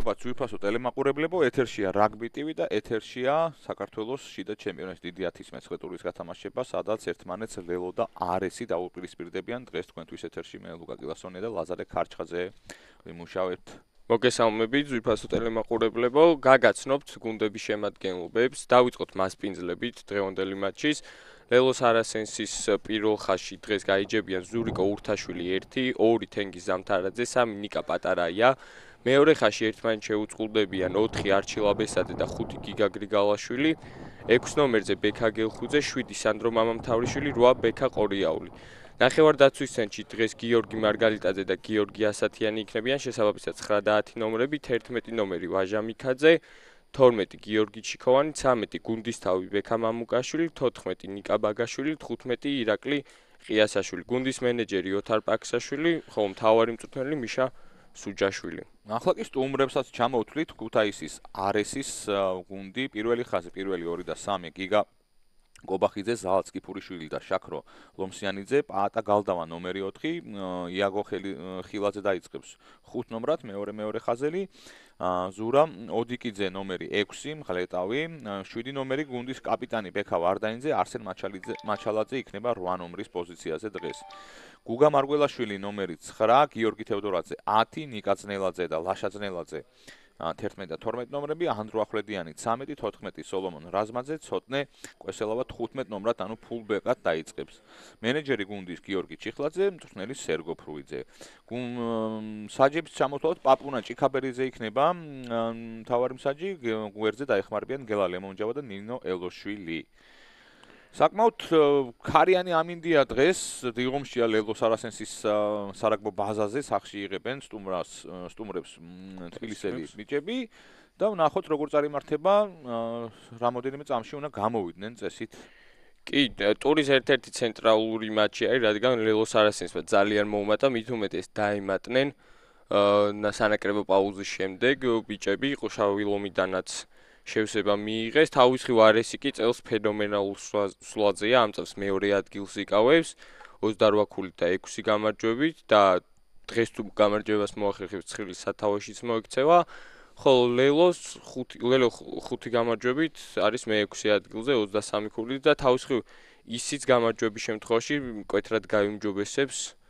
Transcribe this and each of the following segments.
მადლობა ძვირფასო ტელემაყურებლებო, ეთერშია რაგბი TV და ეთერშია საქართველოს შიდა ჩემპიონატის დიდი 19 ტურის გათამაშება, სადაც ერთმანეთს ლელო და არესი დაუპირისპირდებიან. დღეს თქვენთვის ეთერში მე ლუკა კილასონია და ლაზარე ქარჩხაძე ვიმუშავებთ. მოგესალმებით ძვირფასო ტელემაყურებლებო, გაგაცნობთ გუნდების შემადგენლობებს, დავიწყოთ მასპინძლებით დღევანდელი მატჩის. ლელოს არასენსის პირველ ხაზში დღეს გაიჯებიან ზურიკო ურთაშვილი 1, 2 თენგიზ ზამთარაძე, 3 ნიკა პატარაია. მეორე ხაზში ერთმანეთს შეუწყვილდებიან 4 არჩილ აბესაძე და 5 გიგა გრიგალაშვილი, 6 ნომერზე ბექა გელხუძე, 7 სანდრო მამამთავრიშვილი, 8 ბექა ყორიაული. ნახევარდაცვის ცენტრში დღეს გიორგი მარგალიტაძე და გიორგი ასათიანი იქნებიან, შესაბამისად 9 და 10 ნომრები, 11 ნომერი ვაჟა მიქაძე, 12 გიორგი ჩიქოვანი, 13 გუნდისთავი ბექა მამუკაშვილი, 14 ნიკა ბაგაშვილი, 15 ირაკლი ყიასაშვილი, გუნდის მენეჯერი ოთარ პაქსაშვილი, ხოლო მთავარი მწვრთნელი მიშა სუჯაშვილი. ახლა კი სტუმრებსაც ჩამოვთვლით ქუთაისის არესის გუნდი, პირველი ხაზი, პირველი 2 და 3 გიგა გობახიძე, ზალაც კიფურიშვილი და შაქრო ლომსიანიძე, პაატა გალდავა ნომერი 4, იაგო ხილაძე დაიწყებს 5 ნომრად, მეორე ხაზელი, ზურა ოდიკიძე ნომერი 6, მღლეტავი, 7 ნომერი გუნდის კაპიტანი ბექა ვარდაინძე, არსენ მაჩალაძე იქნება 8 ნომრის პოზიციაზე დღეს. გუგა მარგველაშვილი ნომერი 9, გიორგი თევდორაძე 10, ნიკა ძნელაძე და ლაშა ძნელაძე 11 და 12 ნომრები, ანდრო ახვლედიანი 13, 14 სოლომონ რაზმაძე, ცოტნე კვესელავა 15 ნომრად, ანუ ფულბეკად დაიწყებს. მენეჯერი გუნდის გიორგი ჩიხლაძე, მწვრთნელი სერგო ფრუიძე. საჯებს ჩამოთვალოთ, პაპუნა ჭიქაბერიძე იქნება მთავარი მსაჯი, გვერდზე დაეხმარებიან გელა ლემონჯავა და ნინო ელოშვილი. საკმაოდ ქარიანი ამინდია დღეს, დღომშია ლელოს არასენსის სარაგბო ბაზაზე, სახში იღებენ სტუმრებს თბილისელი ბიჭები და ვნახოთ როგორ წარიმართება, რამოდენიმე წამში უნდა გამოვიდნენ წესით. კი, ტურის ერთ-ერთი ცენტრალური მატჩი არის, რადგან ლელოს არასენსმა ძალიან მოუმატა, მით უმეტეს დაემატნენ სანაკრებო პაუზის შემდეგ ბიჭები, ყუშავი ლომიდანაც შევსება მიიღეს, თავისხრივ არესი კი წელს ფენომენალურ სულაძეა, ამ წელს მეორე ადგილს იკავებს, 28 ქულით და 6 გამარჯვებით და დღეს თუ გამარჯვებას მოახერხებს 9 სათავეშიც მოექცევა, ხოლო ლელო 5 გამარჯვებით არის მე-6 ადგილზე 23 ქულით და თავისხრივ ისიც გამარჯვების შემთხვევაში მკვეთრად გაიმჯობესებს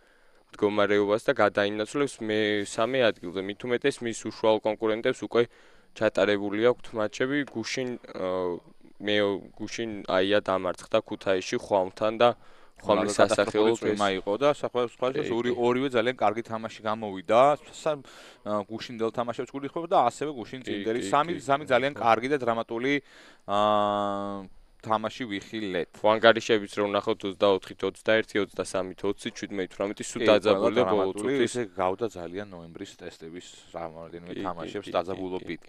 მდგომარეობას და გადაინაცვლებს მე-3 ადგილზე, მით უმეტეს მის უშუალო კონკურენტებს უკვე ჩატარებული აქვთ მატჩები, გუშინ აია დამარცხდა ქუთაისში ხვამთან და ხვამლის სასახელო თემა იყო და ორივე ძალიან კარგი თამაში გამოვიდა. გუშინდელ თამაშებს გულისხმობ და ასევე გუშინ წინდერი 3 ძალიან კარგი და დრამატული თამაში ვიხილეთ. ვანგარიშებიც რომ ნახოთ 24-21, 23-20, 17-18 სულ დაძაბული და ბოლო წუთის ისე გავდა ძალიან ნოემბრის ტესტების რამოდენიმე თამაშებს დაძაბულობით.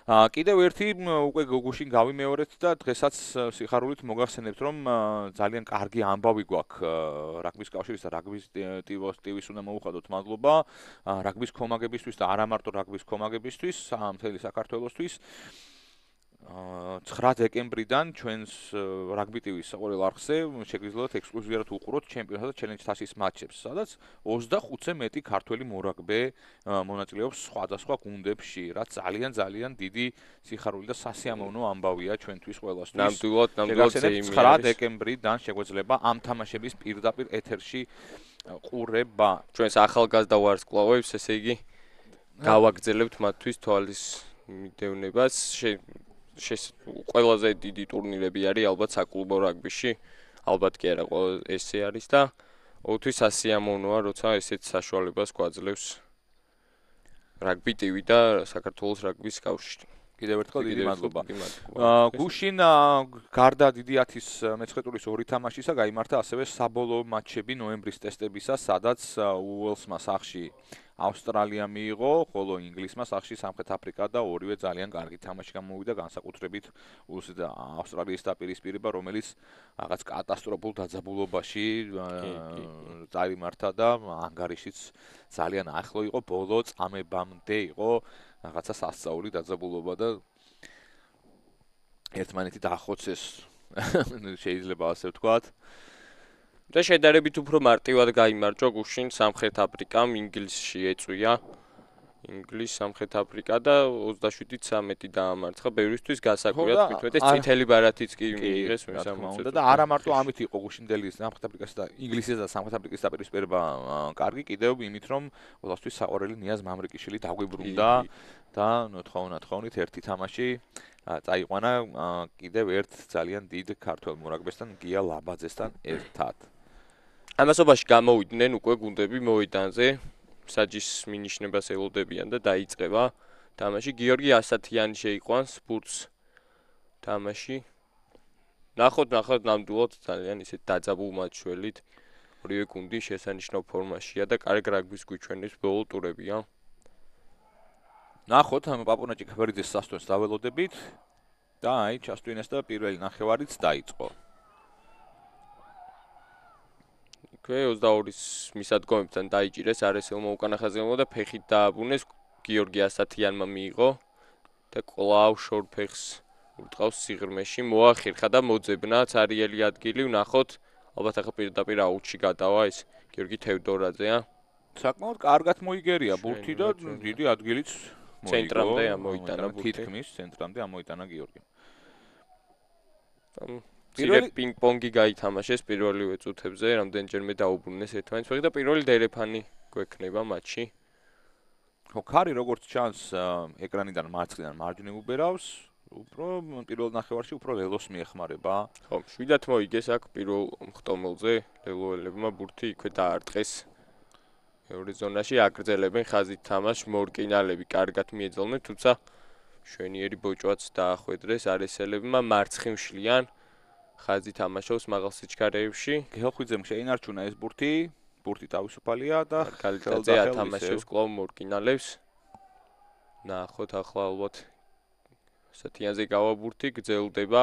კიდევ ერთი უკვე გუშინ გავიმეორეთ და დღესაც სიხარულით მოგახსენებთ რომ ძალიან კარგი ამბავი გვაქვს რაგბის კავშირის და რაგბის ტივს უნდა მოუხადოთ მადლობა რაგბის კომაგებისთვის და არა მარტო რაგბის კომაგებისთვის, მთელი საქართველოსთვის. 9 დეკემბრიდან ჩვენს რაგბი ტივის საყურელ არხზე შეგიძლიათ ექსკლუზიურად უყუროთ ჩემპიონატ და ჩელენჯ თასის მატჩებს, სადაც 25-ზე მეტი ქართველი მორაგბე მონაწილეობს სხვადასხვა გუნდებში, რაც ძალიან დიდი სიხარული და სასიამოვნო ამბავია ჩვენთვის ყველასთვის. ნამდვილად 9 დეკემბრიდან შეგვეძლება ამ თამაშების პირდაპირ ეთერში ყურება. ჩვენს ახალგაზრდა ვარსკვლავებს, ესე იგი გავაგრძელებთ მათთვის თვალის მიდევნებას. ყველაზე დიდი ტურნირები არის ალბათ საკლუბო რაგბიში, ალბათ კი არა, ესე არის და ოთვის სასიამოვნოა, როცა ესეთ საშუალებას გვაძლევს რაგბი ტივი და საქართველოს რაგბის კავშირი. კიდევ ერთხელ დიდი მადლობა. გუშინ გარდა დიდი 19 ტურის 2 თამაშისა გაიმართა ასევე საბოლოო მატჩები ნოემბრის ტესტებისა, სადაც უელსმა სახში ავსტრალია მიიღო, ხოლო ინგლისმა სახში სამხრეთ აფრიკა და ორივე ძალიან კარგი თამაში გამოვიდა, განსაკუთრებით ავსტრალიის დაპირისპირება, რომელიც რაღაც კატასტროფულ დაძაბულობაში წარიმართა და ანგარიშიც ძალიან ახლო იყო, ბოლო წამებამდე იყო რაღაცა სასწაული დაძაბულობა და ერთმანეთი დაახოცეს შეიძლება ასე ვთქვათ. და შედარებით უფრო მარტივად გაიმარჯვა გუშინ სამხრეთ აფრიკამ, ინგლისში ეწვია ინგლისი, სამხრეთ αφრიკა და 27-13 დაამარცხა. ბევრისთვის გასაკვირად თვითონ წითელი ბარათიც კი მიიღეს მესამეზე და არა მარტო ამით იყო გუშინდელი სამხრეთ αφრიკასა და ინგლისის და სამხრეთ αφრიკის დაპირისპირება კარგი, კიდევ იმით რომ ყოველთვის საყვარელი ნიაზ მამრიკიშვილი დაგვიბრუნდა და ნოთხოვნით ერთი თამაში წაიყვანა კიდევ ერთ ძალიან დიდ ქართველ მორაგბესთან გია ლაბაძესთან ერთად. ამასობაში გამოვიდნენ უკვე გუნდები მოედანზე. საჯის მინიშნებას ელოდებიან და დაიწყება თამაში. გიორგი ასათიანი შეიყვანს ბურთს თამაში. ნახოთ ნამდვილად ძალიან ისე დაძაბულ მატჩველით. ორივე გუნდი შესანიშნავ ფორმაშია და კარგ რაგბის გვიჩვენებს ბოლო ტურებია. ნახოთ ამ პაპუნა ჭიქაბერიძის სასტვენს დაველოდებით და აი ჩასტვინეს და პირველი ნახევარიც დაიწყო. ქვე 22-ის მისადგომებთან დაიჭირეს არესელმა უკანა ხაზგემო და ფეხით დააბრუნეს. გიორგი ასათიანმა მიიღო და კლავ შორ ფეხს ურტყავს სიღრმეში. მოახერხა და მოძებნა ცარიელი ადგილი. ვნახოთ ალბათ ახლა პირდაპირ აუთში გადავა ეს გიორგი თევდორაძეა. საკმაოდ კარგად მოიგერია ბურთი და დიდი ადგილიც ცენტრამდე ამოიტანა ბურთი. თითქმის ცენტრამდე ამოიტანა გიორგიმ. პირველი პინგ-პონგი გაითამაშეს პირველივე წუთებზე, რამდენჯერმე დაუბრუნეს ერთმანეთს ფეხი და პირველი დერეფანი გვექნება მატჩში. ხო, ქარი როგორც ჩანს ეკრანიდან მარცხნიდან მარჯვნივ უბერავს, უფრო პირველ ნახევარში უფრო ლელოს მიეხმარება. ხო, შვიდად მოიგეს აქ პირველ მხტომელზე, ლელოელებმა ბურთი იქვე დაარტყეს. მეორე ზონაში აგრძელებენ ხაზით თამაშს, მორკინალები კარგად მიეძალნენ, თუმცა შვენიერი ბოჭვაც დაახვედრეს არესელებმა, მარცხნივ შლიან. ხაზი თამაშობს მაღალ სიჩქარეებში. გელხვიძემ შეინარჩუნა ეს ბურთი თავისუფალია და კალიტაძე ათამაშებს კლავ მორკინალებს. ნახოთ ახლა ალბათ ასათიანზე გავა ბურთი, გრძელდება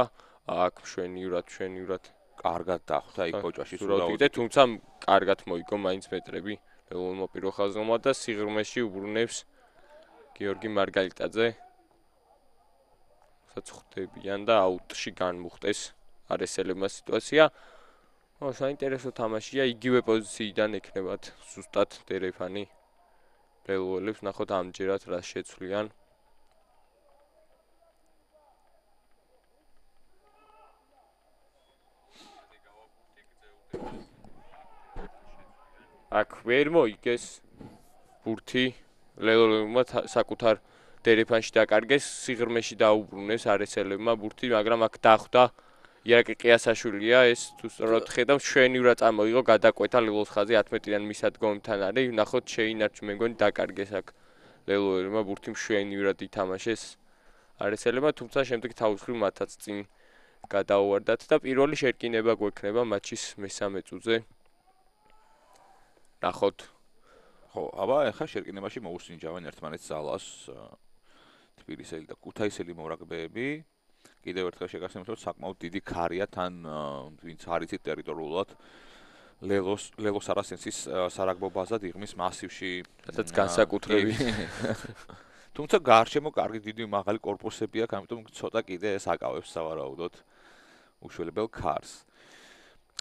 აქ შვენიურად კარგად დახვდა იქ ბოჭვაში სულაუდე, თუმცა კარგად მოიგო მაინც მეტრები ლელონმა პირველ ხაზგემმა და სიღრმეში უბრუნებს გიორგი მარგალიტაძე. სადაც ხვდებიან და აუტში განმუხტეს არესელებმა სიტუაცია. საინტერესო თამაშია, იგივე პოზიციიდან ექნებათ ზუსტად დერეფანი ლელოელებს. ნახოთ ამჯერად რა შეცვლიან. აქ ვერ მოიგეს ბურთი ლელოელებმა საკუთარ დერეფანში დაკარგეს, სიღრმეში დაუბრუნეს არესელებმა ბურთი, მაგრამ აქ დახვდა ირაკი ყიასაშვილია, ეს თუ სწორად ხედავ, შვენიურად წამოიღო გადაკვეთა ლელოს ხაზი 11-დან მისადგომთან არის. ნახოთ შეინარჩუნე, მე მგონი დაკარგეს აქ ლელოელებმა ბურთი შვენიურად ითამაშეს არესელებმა, თუმცა შემდეგ თავის მხრივ მათაც წინ გადაუვარდათ და პირველი შერკინება გვექნება მატჩის მესამე წუთზე. ნახოთ. ხო, აბა ახლა შერკინებაში მოუსინჯავენ ერთმანეთს ზალას თბილისელი და ქუთაისელი მორაგბეები. კიდევ ერთხელ შეგახსენებთ, რომ საკმაოდ დიდი ქარია თან ვინც არიცით ტერიტორიულად ლელოს არასენსის სარაგბო ბაზად იღმის მასივში, სადაც განსაკუთრებით. თუმცა გარშემო კარგი დიდი მაღალი კორპუსები აქვს, ამიტომ ცოტა კიდე ეს აკავებს სავარაუდოდ უშველებელ ქარს.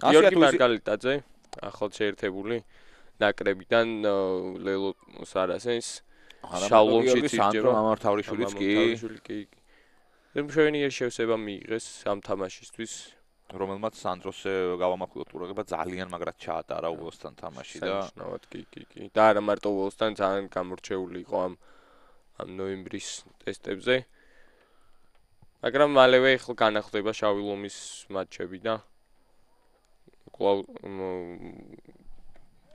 გიორგი მარგალიტაძე, ახლად შეერთებული ნაკრებიდან ლელოს არასენს შავლომში სანდრო ამართავრიშვილიც კი. მშვენიერი შევსება მიიღეს ამ თამაშისთვის, რომელმაც სანდროს გავამახვილოთ ყურადღება ძალიან მაგრად ჩაატარა უელსთან თამაში და სანიშნავად კი. და არა მარტო უელსთან, ძალიან გამორჩეული იყო ამ ნოემბრის ტესტებზე. მაგრამ მალევე ახლა განახლდება შავი ლომის მატჩები და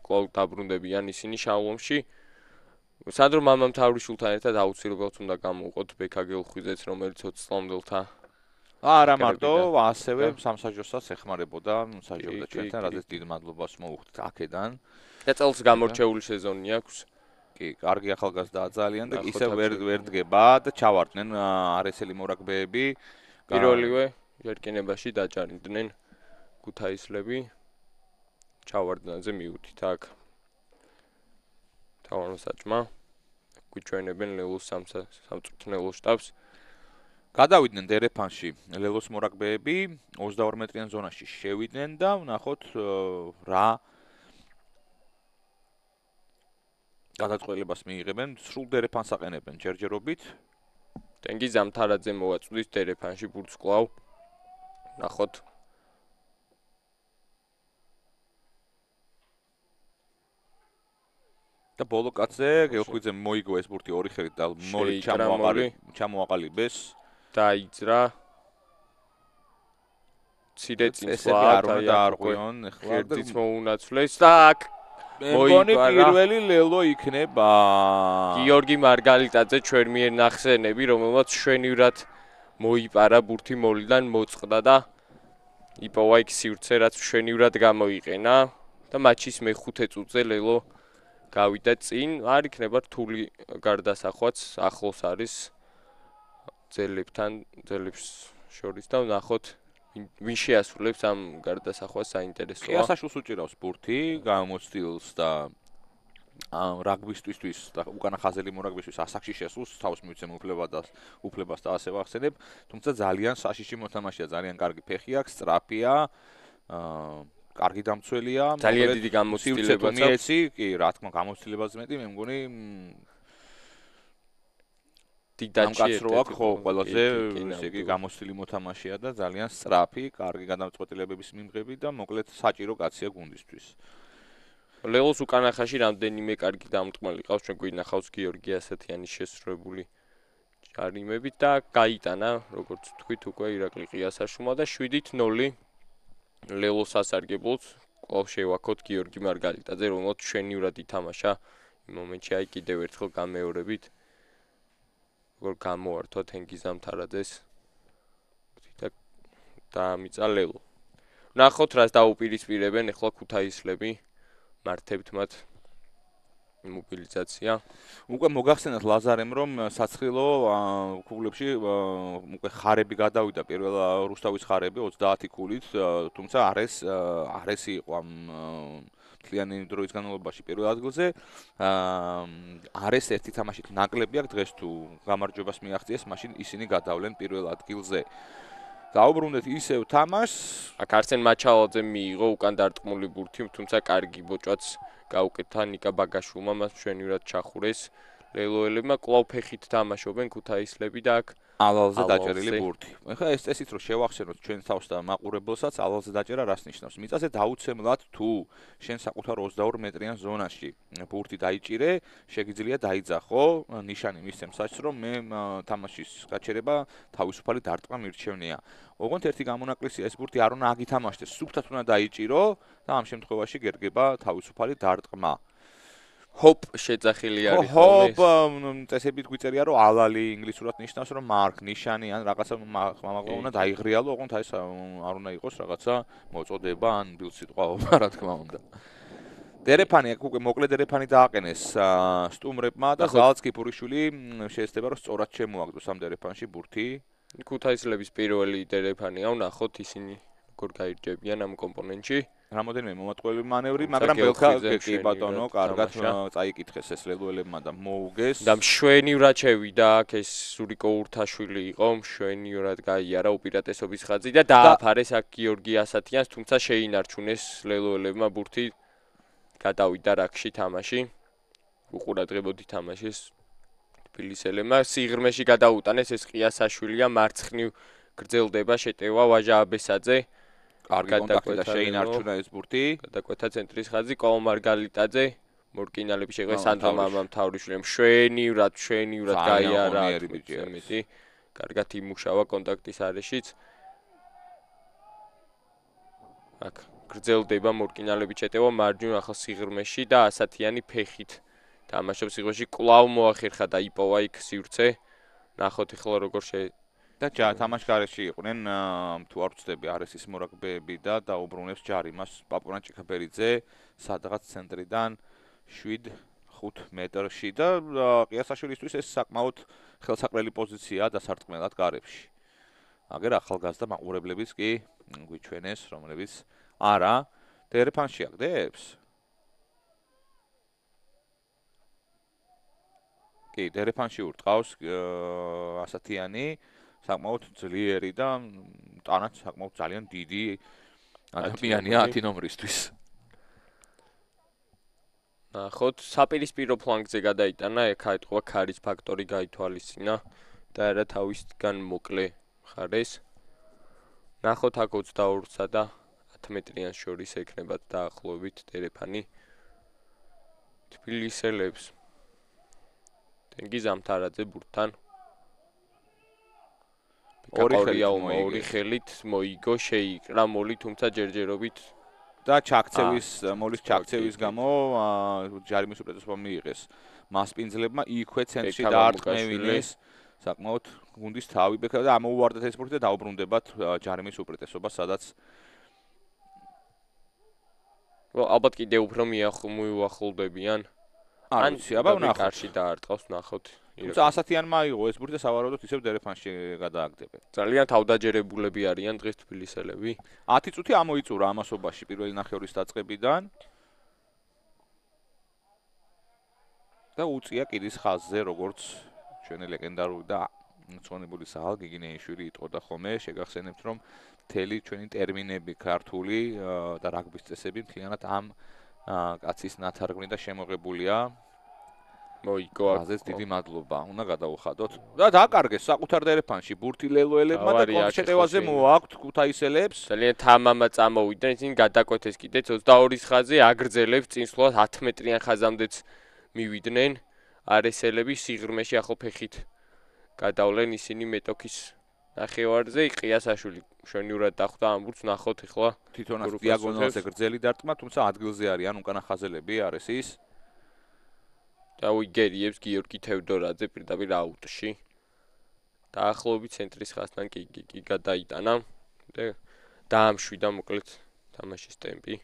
კლავ დაბრუნდებიან ისინი შავ ლომში. სანდრო მამამთავრიშვილთან ერთად აუცილებლად უნდა გამოვყოთ ბექა გელხვიძეც, რომელიც 20 წლამდელთა არა მარტო, ასევე სამსაჯოსაც ეხმარებოდა მსაჯობდა ჩვენთან, რადგან დიდ მადლობას მოუხდით აქედან. და წელს გამორჩეული სეზონი აქვს. კი, კარგი ახალგაზრდაა ძალიან და ისე ვერ დგება და ჩავარდნენ არესელი მორაგბეები. პირველივე შერკინებაში დაჯარიმდნენ ქუთაისლები. ჩავარდნაზე მიუთით აქ თავმსაჭმა გვიჩვენებენ ლელოს სამწვრთნელო შტაბს. გადავიდნენ დერეფანში ლელოს მორაგბეები 22 მეტრიან ზონაში შევიდნენ და ვნახოთ რა გადაწყვეტილებას მიიღებენ, სრულ დერეფანს აყენებენ ჯერჯერობით. ტენგიზ ამთარაძე მოვაწვდის დერეფანში ბურთს კვლავ. ნახოთ. და ბოლო კაცზე გელხვიძემ მოიგო ეს ბურთი ორი ხელით და მოლი ჩამოაყალიბეს. დაიძრა. ცირე წინსვლა წესები არ უნდა დაარღვიონ ეხლა. ღერდიც მოუნაცვლეს და აქ მე მგონი პირველი ლელო იქნება. გიორგი მარგალიტაძე ჩვენ მიერ ნახსენები, რომელმაც შვენივრად მოიპარა ბურთი მოლიდან მოწყდა და იპოვა იქ სივრცე, რაც შვენივრად გამოიყენა და მატჩის მეხუთე წუთზე ლელო გავიდა წინ. არ იქნება რთული გარდასახვაც, ახლოს არის ძელებს შორის და ნახოთ ვინ შეასრულებს ამ გარდასახვას საინტერესოა. ყიასაშვილს უჭირავს ბურთი, გამოცდილს და რაგბისტვისთვის და უკანა ხაზელი მორაგბისთვის ასაკში შესულს თავს მივცემ უფლებას და ასე ვახსენებ, თუმცა ძალიან საშიში მოთამაშეა, ძალიან კარგი ფეხი აქვს, სწრაფია, კარგი დამცველია, ძალიან დიდი გამოცდილებაც აქვს. კი, რა თქმა უნდა, გამოცდილებაც მეტი, მე მგონი დიდაჩი აქვს ხო ყველაზე ესე იგი გამოცდილი მოთამაშეა და ძალიან სწრაფი, კარგი გადაწყვეტილებების მიმღები და მოკლედ საჭირო კაცია გუნდისთვის. ლელოს უკანა ხაზში რამდენიმე კარგი დამტყმელი ყავს, ჩვენ გვინახავს გიორგი ასათიანის შესრულებული ჯარიმებით და გაიტანა, როგორც თქვით, უკვე ირაკლი ყიასაშვილმა და 7-0 ლელოს ასარგებლოს კვლავ შევაქოთ გიორგი მარგალიტაძე, რომელსაც შვენივრად ითამაშა იმ მომენტში, აი კიდევ ერთხელ გამეორებით. როგორ გამოართვა თენგიზ ამთარაძეს და დაამიწა ლელო. ნახოთ რას დაუპირისპირებენ ახლა ქუთაისლები. მართებთ მათ მობილიზაცია. უკვე მოგახსენათ ლაზარემ რომ საცხილო ქუგლებში უკვე ხარები გადავიდა პირველ რუსთავის ხარები 30 ქულით, თუმცა არესი იყო ამ მთლიანი დროის განმავლობაში პირველ ადგილზე. არეს ერთი თამაშით ნაკლები აქვს დღეს თუ გამარჯვებას მიაღწიეს, მაშინ ისინი გადავლენ პირველ ადგილზე. დაუბრუნდეთ ისევ თამაშს. აქ არსენ მაჩალაძე მიიღო უკან დარტყმული ბურთი, თუმცა კარგი ბოჭვაც გაუკეთა ნიკა ბაგაშვილმა, მას შვენივრად ჩახურეს. ლელოელებმა კვლავ ფეხით თამაშობენ ქუთაისლები და აქ ალალზე დაჭერილი ბურთი. ეხლა ეს წესით რომ შევახსენოთ ჩვენ თავს და მაყურებელსაც, ალალზე დაჭერა რას ნიშნავს? მიწაზე დაუცემლად თუ შენ საკუთარ 22 მეტრიან ზონაში ბურთი დაიჭირე, შეგიძლია დაიძახო, ნიშანი მისცემ საჭს რომ მე თამაშის გაჩერება თავისუფალი დარტყმა მირჩევნია. ოღონდ ერთი გამონაკლისია, ეს ბურთი არ უნდა აგითამაშდეს, სუფთად უნდა დაიჭირო და ამ შემთხვევაში გერგება თავისუფალი დარტყმა. ჰოპ შეძახილი არის ხოლმე. ჰოპ წესებით გვიწერია რომ ალალი ინგლისურად ნიშნავს რომ მარკ ნიშანი ან რაღაცა მაგრამ უნდა დაიღრიალო, ოღონდ ეს არ უნდა იყოს რაღაცა მოწოდება ან ბილსიტყვაობა, რა თქმა უნდა. დერეფანი აქ უკვე მოკლე დერეფანი დააყენეს სტუმრებმა და ზალაც კიფურიშვილი შეეცდება რომ სწორად შემოაგდოს ამ დერეფანში ბურთი. ქუთაისლების პირველი დერეფანია, ვნახოთ ისინი როგორ გაირჯებიან ამ კომპონენტში. რამოდენიმე მომატყუებელი მანევრი, მაგრამ ბელქა კი ბატონო, კარგად წაიკითხეს ეს ლელოელებმა და მოუგეს. და მშვენივრად შევიდა აქ ეს სურიკო ურთაშვილი იყო, მშვენივრად გაიარა უპირატესობის ხაზი და დააფარეს აქ გიორგი ასათიანს, თუმცა შეინარჩუნეს ლელოელებმა ბურთი. გადავიდა რაკში თამაში. უყურადღებოდი თამაშის თბილისელებმა სიღრმეში გადაუტანეს ეს ყიასაშვილია, მარცხნივ გრძელდება შეტევა ვაჟა აბესაძე. კარგი კონტაქტი და შეინარჩუნა ეს ბურთი. გადაკვეთა ცენტრის ხაზი კოლო მარგალიტაძე, მორკინალები შეგვე სანდრო მამამთავრიშვილმა შვენივრად გაიარა მეტი. კარგად იმუშავა კონტაქტის არეშიც. აქ გრძელდება მორკინალები შეტევა მარჯვნივ ახლა სიღრმეში და ასათიანი ფეხით თამაშობს სიღრმეში, კვლავ მოახერხა და იპოვა იქ სივრცე. ნახოთ ახლა როგორ და თამაშგარეში იყვნენ თუ არ ვცდები არესის მორაგბეები და დაუბრუნებს ჯარი მას პაპუნა ჭიქაბერიძე სადღაც ცენტრიდან 7-5 მეტრში და ყიასაშვილისთვის ეს საკმაოდ ხელსაყრელი პოზიციაა დასარტყმელად გარებში. აგერ ახალგაზრდა მაყურებლებიც კი გვიჩვენეს, რომლებიც არა დერეფანში აგდებს? კი, დერეფანში ურტყავს ასათიანი საკმაოდ ძლიერი და ტანაც საკმაოდ ძალიან დიდი ადამიანია 10 ნომრისთვის. ნახოთ, საპირისპირო ფლანგზე გადაიტანა, ეხა ეთყობა ქარის ფაქტორი გაითვალისწინა და არა თავისგან მოკლე მხარეს. ნახოთ აქ 22-სა და 10 მეტრიან შორის ექნება დაახლოებით დერეფანი. თბილისელებს თენგიზ ამთარაძე ბურთთან ორი ხელით მოიგო, შეიკრა მოლი, თუმცა ჯერჯერობით და მოლის ჩაქცევის გამო ჯარიმის უპრეტესობა მიიღეს მასპინძლებმა, იქვე ცენტრში დაარტყმევინეს საკმაოდ გუნდის თავი ბექა და ამოუვარდათ ეს ბურთი და დაუბრუნდებათ ჯარიმის უპრეტესობა, სადაც ალბათ კიდე უფრო მიუახლოვდებიან. არ ვიცი, აბა ვნახოთ. კარში დაარტყავს, ნახოთ. თუმცა ასათიანმა აიღო ეს ბურთი და სავარაუდოდ ისევ დერეფანში გადააგდებენ. ძალიან თავდაჯერებულები არიან დღეს თბილისელები. 10 წუთი ამოიწურა ამასობაში პირველი ნახევრის დაწყებიდან. და უწია კიდის ხაზზე, როგორც ჩვენი ლეგენდარული და მწონებული საღალ გიგინეიშვილი იტყოდა ხოლმე, შეგახსენებთ, რომ მთელი ჩვენი ტერმინები ქართული და რაგბის წესები მთლიანად ამ კაცის ნათარგმნი და შემოღებულია. მოიგო აქ. აზეს დიდი მადლობა. უნდა გადაუხადოთ. და დააკარგეს საკუთარ დერეფანში ბურთი ლელოელებმა და კონშეტევაზე მოაქვთ ქუთაისელებს. ძალიან თამამა წამოვიდნენ, ისინი გადაკვეთეს კიდეც 22-ის ხაზზე, აგრძელებს წინსვლად 10 მეტრიან ხაზამდეც მივიდნენ. არესელები სიღრმეში ახო ფეხით გადავლენ ისინი მეტოქის ნახევარზე, ყიასაშვილი მშვენივრად დახვდა ამ ბურთს, ნახოთ ახლა თვითონაც დიაგონალზე გრძელი დარტყმა, თუმცა ადგილზე არიან უკანა ხაზელები არესის. და უიგერიებს გიორგი თევდორაძე პირდაპირ აუტში. დაახლოებით ცენტრის ხაზთან კი გადაიტანა და დაამშვიდა მოკლედ თამაშის ტემპი.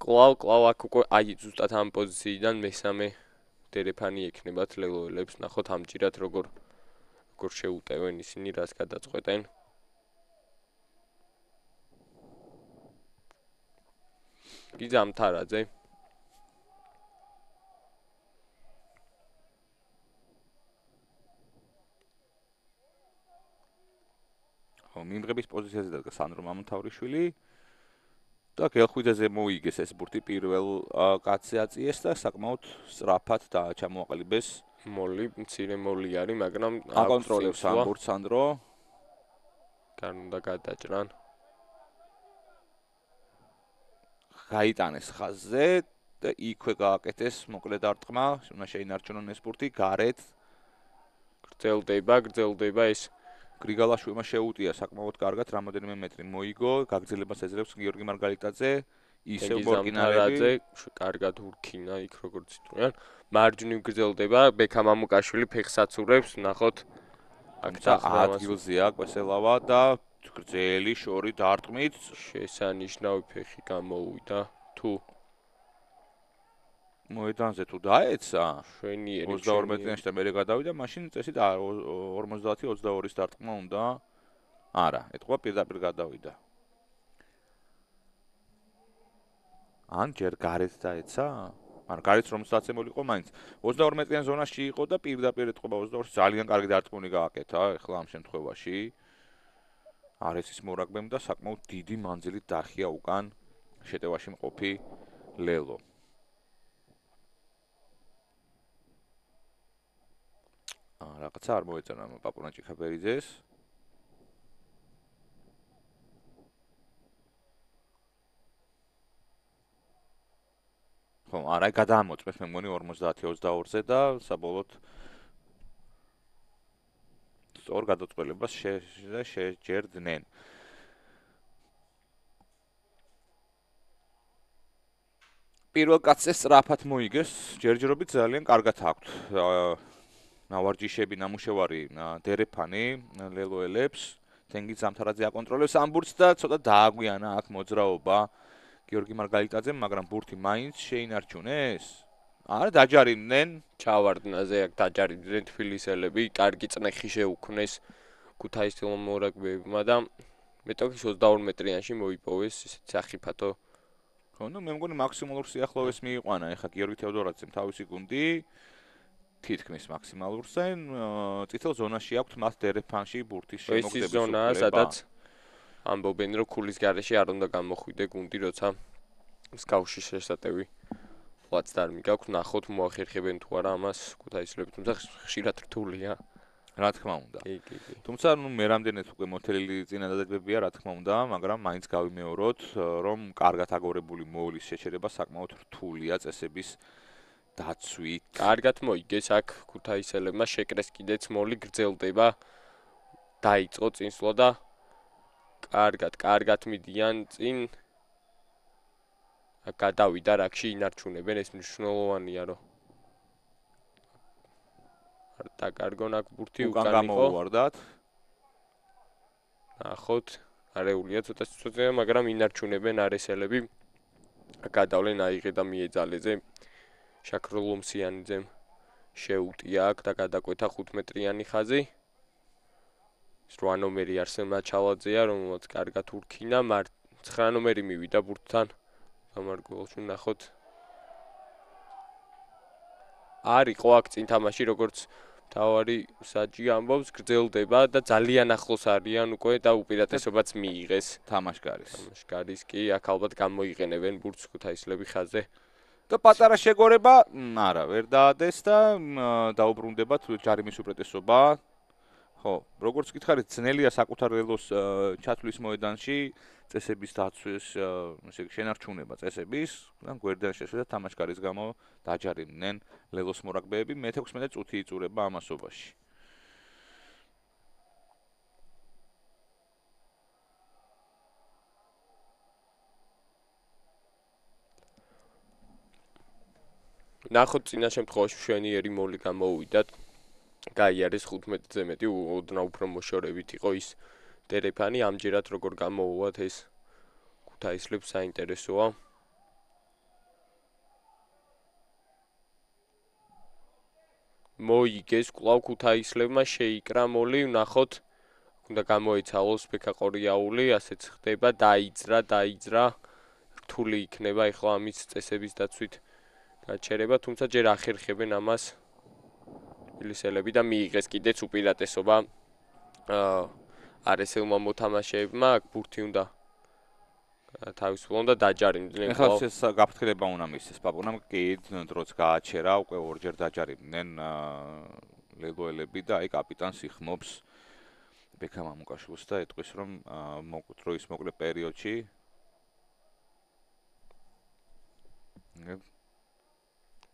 კლავ აქ უკვე აი ზუსტად ამ პოზიციიდან მესამე დერეფანი ექნებათ ლელოელებს, ნახოთ ამჭირად როგორ შეუტევენ ისინი, რას გადაწყვეტენ. გიზა ამთარაძე მიმღების პოზიციაზე დადგა სანდრო მამონთავრიშვილი და გელხვიძეზე მოიგეს ეს ბურთი პირველ კაცზე აწიეს და საკმაოდ სწრაფად ჩამოაყალიბეს მოლი, მცირე მოლი არის, მაგრამ აკონტროლებს ამ ბურთს სანდრო. გან უნდა გადაჭრან. გაიტანეს ხაზზე და იქვე გააკეთეს მოკლე დარტყმა, უნდა შეინარჩუნონ ეს ბურთი გარეთ. გრძელდება ეს გრიგალაშვილმა შეუტია საკმაოდ კარგად, რამოდენიმე მეტრი მოიგო, გაგრძელებას ეძლევს გიორგი მარგალიტაძე, ისევ ბორკინარები, კარგად ურქინა იქ როგორც იტყვიან. მარჯვნივ გრძელდება, ბექა მამუკაშვილი ფეხს აცურებს, ნახოთ. აქ ადგილზეა კვესელავა და გრძელი შორი დარტყმით შესანიშნავი ფეხი გამოუვიდა. თუ მოედანზე თუ დაეცა, შვენიერი 22 მეტრიანში და მერე გადავიდა, მაშინ წესით 50-22-ის დარტყმა უნდა. არა, ეთყობა პირდაპირ გადავიდა. ან ჯერ გარეთ დაეცა? ან გარეთ რომ სტაცემული იყო მაინც 22 მეტრიან ზონაში იყო და პირდაპირ ეთყობა 22-ში ძალიან კარგი დარტყმული გააკეთა, ეხლა ამ შემთხვევაში. არესის მორაგბემ და საკმაოდ დიდი მანძილით დახია უკან შეტევაში მყოფი ლელო. რაღაცა არ მოეწონა პაპუნა ჭიქაბერიძეს. ხო, არა, გადაამოწმეს მე მგონი 50-22-ზე და საბოლოოდ სწორ გადაწყვეტილებას შეჯერდნენ. პირველ კაცზე სწრაფად მოიგეს, ჯერჯერობით ძალიან კარგად აქვთ. ნავარჯიშები, ნამუშევარი დერეფანი ლელოელებს, თენგიზ ამთარაძე აკონტროლებს ამ ბურთს და ცოტა დააგვიანა აქ მოძრაობა გიორგი მარგალიტაძემ, მაგრამ ბურთი მაინც შეინარჩუნეს. არა, დაჯარიმდნენ, ჩავარდნაზე აქ დაჯარიმდნენ თბილისელები, კარგი წნეხი შეუქმნეს ქუთაისელმა მორაგბეებმა და მეტოქის 22 მეტრიანში მოიპოვეს ისეთ სახიფათო. ხო, მე მგონი მაქსიმალურ სიახლოვეს მიიყვანა ეხა გიორგი თევდორაძემ თავისი გუნდი. თითქმის მაქსიმალურზე, წითელ ზონაში აქვთ მას დერეფანში ბურთის შემოგდების უფლება. ეს ზონაა, სადაც ამბობენ, რომ ქულის გარეშე არ უნდა გამოხვიდე გუნდი, როცა მსგავსი შესატევი პლაცდარმი გაქვს, ნახოთ მოახერხებენ თუ არა ამას ქუთაისლები, თუმცა ხშირად რთულია. რა თქმა უნდა. კი. თუმცა მე რამდენად უკვე მოთელილი წინადადებებია, რა თქმა უნდა, მაგრამ მაინც გავიმეოროთ, რომ კარგად აგორებული მოულის შეჩერება საკმაოდ რთულია წესების დაცვით. კარგად მოიგეს აქ ქუთაისელებმა შეკრეს კიდეც მოლი გრძელდება. დაიწყო წინსვლა და კარგად მიდიან წინ. გადავიდა რაკში ინარჩუნებენ, ეს მნიშვნელოვანია, რომ არ დაკარგონ აქ ბურთი უკან უკან იყო. გამოუვარდათ. ნახოთ, არეულია ცოტა სიცოცხლეა, მაგრამ ინარჩუნებენ არესელები. გადავლენ აიღე და მიეძალეზე. შაქრო ლომსიანიძემ შეუტია აქ და გადაკვეთა 5 მეტრიანი ხაზი. 8 ნომერი არსენ მაჩალაძეა, რომელმაც კარგად ურქინა, 9 ნომერი მივიდა ბურთთან. გამარგველში ნახოთ. არისო აქ წინ თამაში, როგორც თავარი საჯი ამბობს, გრძელდება და ძალიან ახლოს არიან უკვე და უპირატესობაც მიიღეს. თამაშკარის კი აქ ალბათ გამოიყენებენ ბურთს ქუთაისლები ხაზზე. და პატარა შეგორება, არა, ვერ დაადეს და დაუბრუნდებათ ჯარიმის უპირატესობა. ხო, როგორც გითხარით, ძნელია საკუთარ ელოს ჩათვლის მოედანში წესების დაცვის, ესე იგი შენარჩუნება წესების, და გვერდიდან შეშვება თამაშკარის გამო დაჯარიმდნენ ლელოს მორაგბეები, მე-16 წუთი იწურება ამასობაში. ნახოთ წინა შემთხვევაში მშვენიერი მოლი გამოუვიდათ. გაიარეს 15-ზე მეტი, ოდნავ უფრო მოშორებით იყო ის დერეფანი, ამჯერად როგორ გამოუვათ ეს ქუთაისლებს საინტერესოა. მოიგეს კვლავ ქუთაისლებმა შეიკრა მოლი, ნახოთ, უნდა გამოეცალოს ბექა ყორიაული, ასეც ხდება, დაიძრა, რთული იქნება ეხლა ამის წესების დაცვით გაჩერება, თუმცა ჯერ ახერხებენ ამას თბილისელები და მიიღეს კიდეც უპირატესობა არესელმა მოთამაშეებმა, აქ ბურთი უნდა თავისუფლონ და დაჯარიმდნენ. ეხლა ეს გაფრთხილება უნდა მისცეს პაპუნამ, კი დროც გააჩერა, უკვე ორჯერ დაჯარიმდნენ ლელოელები და აი კაპიტანს იხმობს ბექა მამუკაშვილს და ეტყვის, რომ დროის მოკლე პერიოდში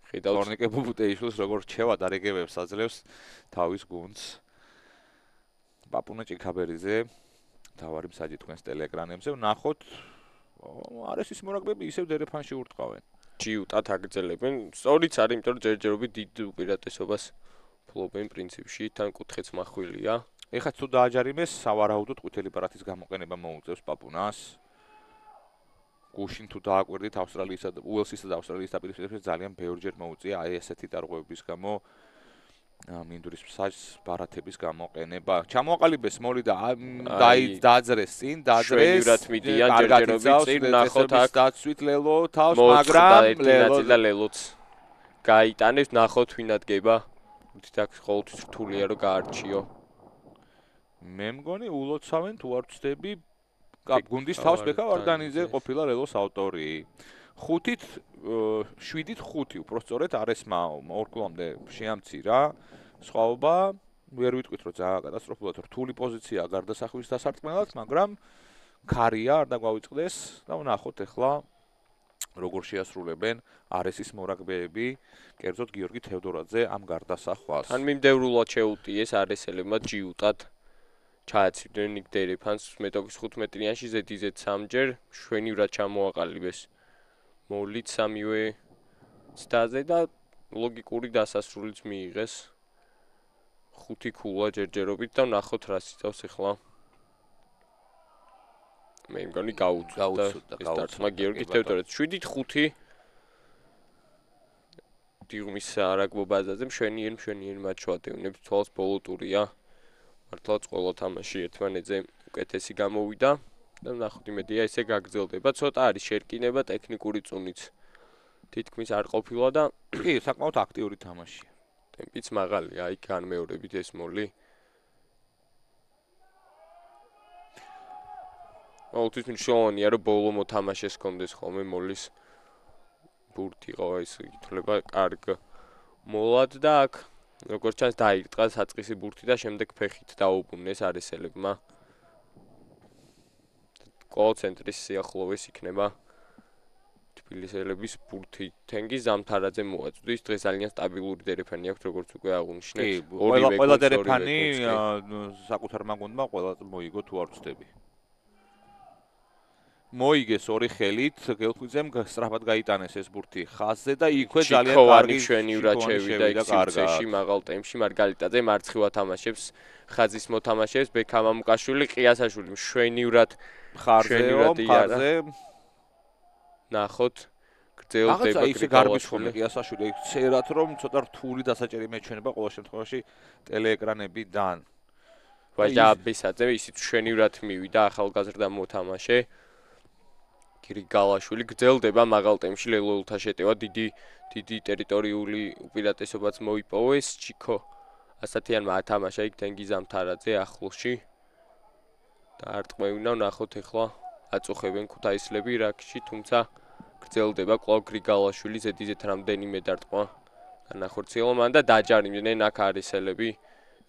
ხორნიკე ბუბუტეიშვილს როგორ რჩევა დარიგებებს აძლევს თავის გუნდს. პაპუნა ჭიქაბერიძე თავარი მსაჯი თქვენს ტელეეკრანებზე, ნახოთ, არესის მორაგბეები ისევ დერეფანში ურტყავენ. ჯიუტად აგრძელებენ, სწორიც არის, იმიტომ რომ ჯერჯერობით დიდ უპირატესობას ფლობენ პრინციპში, თან კუთხეც მახვილია. ეხლა თუ დააჯარიმეს, სავარაუდოდ ყვითელი პარათის გამოყენება მოუწევს პაპუნას. გუშინ თუ დააკვირდით ავსტრალიისა და უელსისა და ავსტრალიის დაპირისპირებაში ძალიან ბევრჯერ მოუწია აი ესეთი დარღვევების გამო მინდურის მსაჯს ბარათების გამოყენება. ჩამოაყალიბეს მოლი და დააძრეს წინ, შვენივრად მიდიან ჯერჯერობით წინ, ნახოთ აქ დაცვით ლელო თავს, მაგრამ ლელოც გაიტანებს, ნახოთ ვინ ადგება. თითქოს აქ ყოველთვის რთულია რომ გაარჩიო. მე მგონი ულოცავენ თუ არ ვცდები გუნდის თავს ბექა ვარდანიძე ყოფილა ლელოს ავტორი. 7-ით 5 უпростоრეთ არესმა ორ კლუბამდე შეამცირა. სხვაობა ვერ ვიტყვით რომ ძალიან კატასტროფულად რთული პოზიციაა გარდასახვის დასარტყმელად, მაგრამ ქარია არ დაგვავიწყდეს და ვნახოთ ახლა როგორ შეასრულებენ არესის მორაგბეები, კერძოდ გიორგი თევდორაძე ამ გარდასახვას. თან მიმდევრულად შეუტიეს არესელებმა ჯიუტად ჩააცივდნენ იქ დერეფანს მეტოქის 5 მეტრიანში ზედიზედ 3ჯერ შვენივრად ჩამოაყალიბეს. მოლით სამივე ცდაზე და ლოგიკური დასასრულიც მიიღეს. 5 ქულა ჯერჯერობით და ნახოთ რა სიტავს ახლა. მე მგონი გაუწევდა ეს დარტყმა გიორგი თევდორაძე. 7-5 დიღმის არაგბო ბაზაზე მშვენიერი მატჩი ვატევნებს, თვალს ბოლო ტურია. მართლაც ყველა თამაში ერთმანეთზე უკეთესი გამოვიდა და ნახოთ იმედია ესე გაგრძელდება. ცოტა არის შერკინება ტექნიკური წუნიც. თითქმის არ ყოფილა და კი, საკმაოდ აქტიური თამაშია. ტემპიც მაღალია, აი განმეორებით ეს მოლი. ყოველთვის მნიშვნელოვანია რომ ბოლო მოთამაშეს ჰქონდეს ხოლმე მოლის ბურთი ყო ეს ითვლება კარგ მოლად და აქ როგორც ჩანს დაირტყა საწყისი ბურთი და შემდეგ ფეხით დაუბრუნეს არესელებმა. გოლ ცენტრის სიახლოვეს იქნება თბილისელების ბურთი. თენგიზ ზამთარაძე მოაწვდის. დღეს ძალიან სტაბილური დერეფანი აქვს, როგორც უკვე აღნიშნეთ. ყველა დერეფანი საკუთარმა გუნდმა ყველა მოიგო თუ არ ვწდები. მოიგეს ორი ხელით, გელხვიძემ სწრაფად გაიტანეს ეს ბურთი ხაზზე და იქვე ძალიან კარგი შვენივრად შევიდა იქ სივრცეში მაღალ ტემპში. მარგალიტაძე მარცხივა თამაშებს, ხაზის მოთამაშეებს, ბექა მამუკაშვილი, ყიასაშვილი შვენივრად ხარზე ნახოთ გრძელდება ისე გარბიშვილი ყიასაშვილი წერათ რომ ცოტა რთული დასაჭერი მეჩვენება ყოველ შემთხვევაში ტელეეკრანებიდან. ვაჟაბისაძე ისიც შვენივრად მივიდა ახალგაზრდა მოთამაშე. გრიგალაშვილი გრძელდება მაღალ ტემპში ლელოულთა შეტევა დიდი ტერიტორიული უპირატესობაც მოიპოვეს ჩიკო ასათიანმა ათამაშა იქ თენგიზ ზამთარაძე ახლოში და არტყმევინა ნახოთ ახლა აწუხებენ ქუთაისლები რაკში თუმცა გრძელდება კვლავ გრიგალაშვილი ზედიზეთ რამდენიმე დარტყმა განახორციელონ და დაჯარიმდნენ აქ არესელები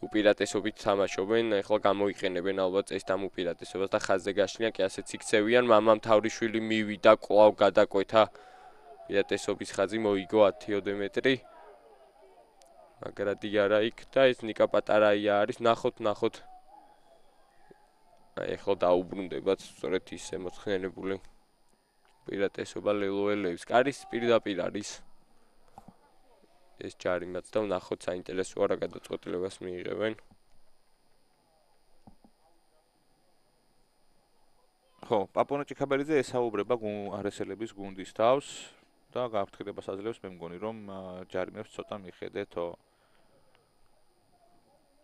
უპირატესობით თამაშობენ, ახლა გამოიყენებენ ალბათ ეს ამ უპირატესობას და ხაზზე გაშლიან კი ასეც იქცევიან, მამამ თავრიშვილი მივიდა, კვლავ გადაკვეთა უპირატესობის ხაზი მოიგო 10 მეტრი. მაგრადი არა იქ და ეს ნიკა პატარაია არის, ნახოთ. აი ახლა დაუბრუნდებათ სწორედ ის ემოცხენებული უპირატესობა ლელოელებს. კარის პირდაპირ არის ეს ჯარიმაც და ვნახოთ საინტერესოა რა გადაწყვეტილებას მიიღებენ. ხო, პაპონე ჭიქაბერიძე ესაუბრება არესელების გუნდის თავს და გაფრთხილებას აძლევს, მე მგონი რომ ჯარიმებს ცოტა მიხედეთო.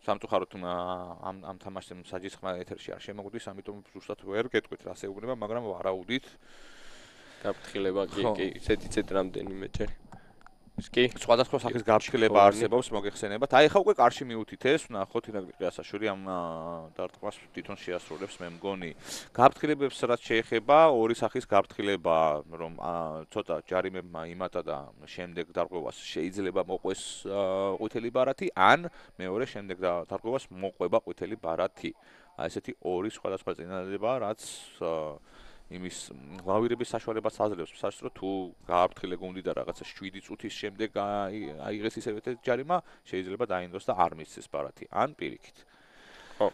სამწუხაროდ ამ თამაშს საჯისხმა ეთერში არ შემოგვდის, ამიტომ ზუსტად ვერ გეტყვით რა შეუგნება, მაგრამ ვარაუდით გაფრთხილება კი ისეთ რამდენიმეჯერ კი სხვადასხვა სახის გაფრთხილება არსებობს მოგეხსენებათ. აი ხა უკვე კარში მიუთით ეს, ვნახოთ ირაკლი ყიასაშვილი ამ დარტყმას თვითონ შეასრულებს, მე მგონი. გაფრთხილებებს რაც შეეხება, ორი სახის გაფრთხილება, რომ ცოტა ჯარიმებმა იმატა და შემდეგ დარღვევას შეიძლება მოყვეს ყვითელი ბარათი, ან მეორე შემდეგ დარღვევას მოყვება ყვითელი ბარათი. აი ესეთი ორი სხვადასხვა წინადადება, რაც იმის ლავირების საშუალებას აძლევს სასწრო თუ გააფრთხილე გუნდი და რაღაცა 7 წუთის შემდეგ აიღეს ისევე ჯარიმა შეიძლება დაინდოს და არ მისცეს ბარათი ან პირიქით. ხო.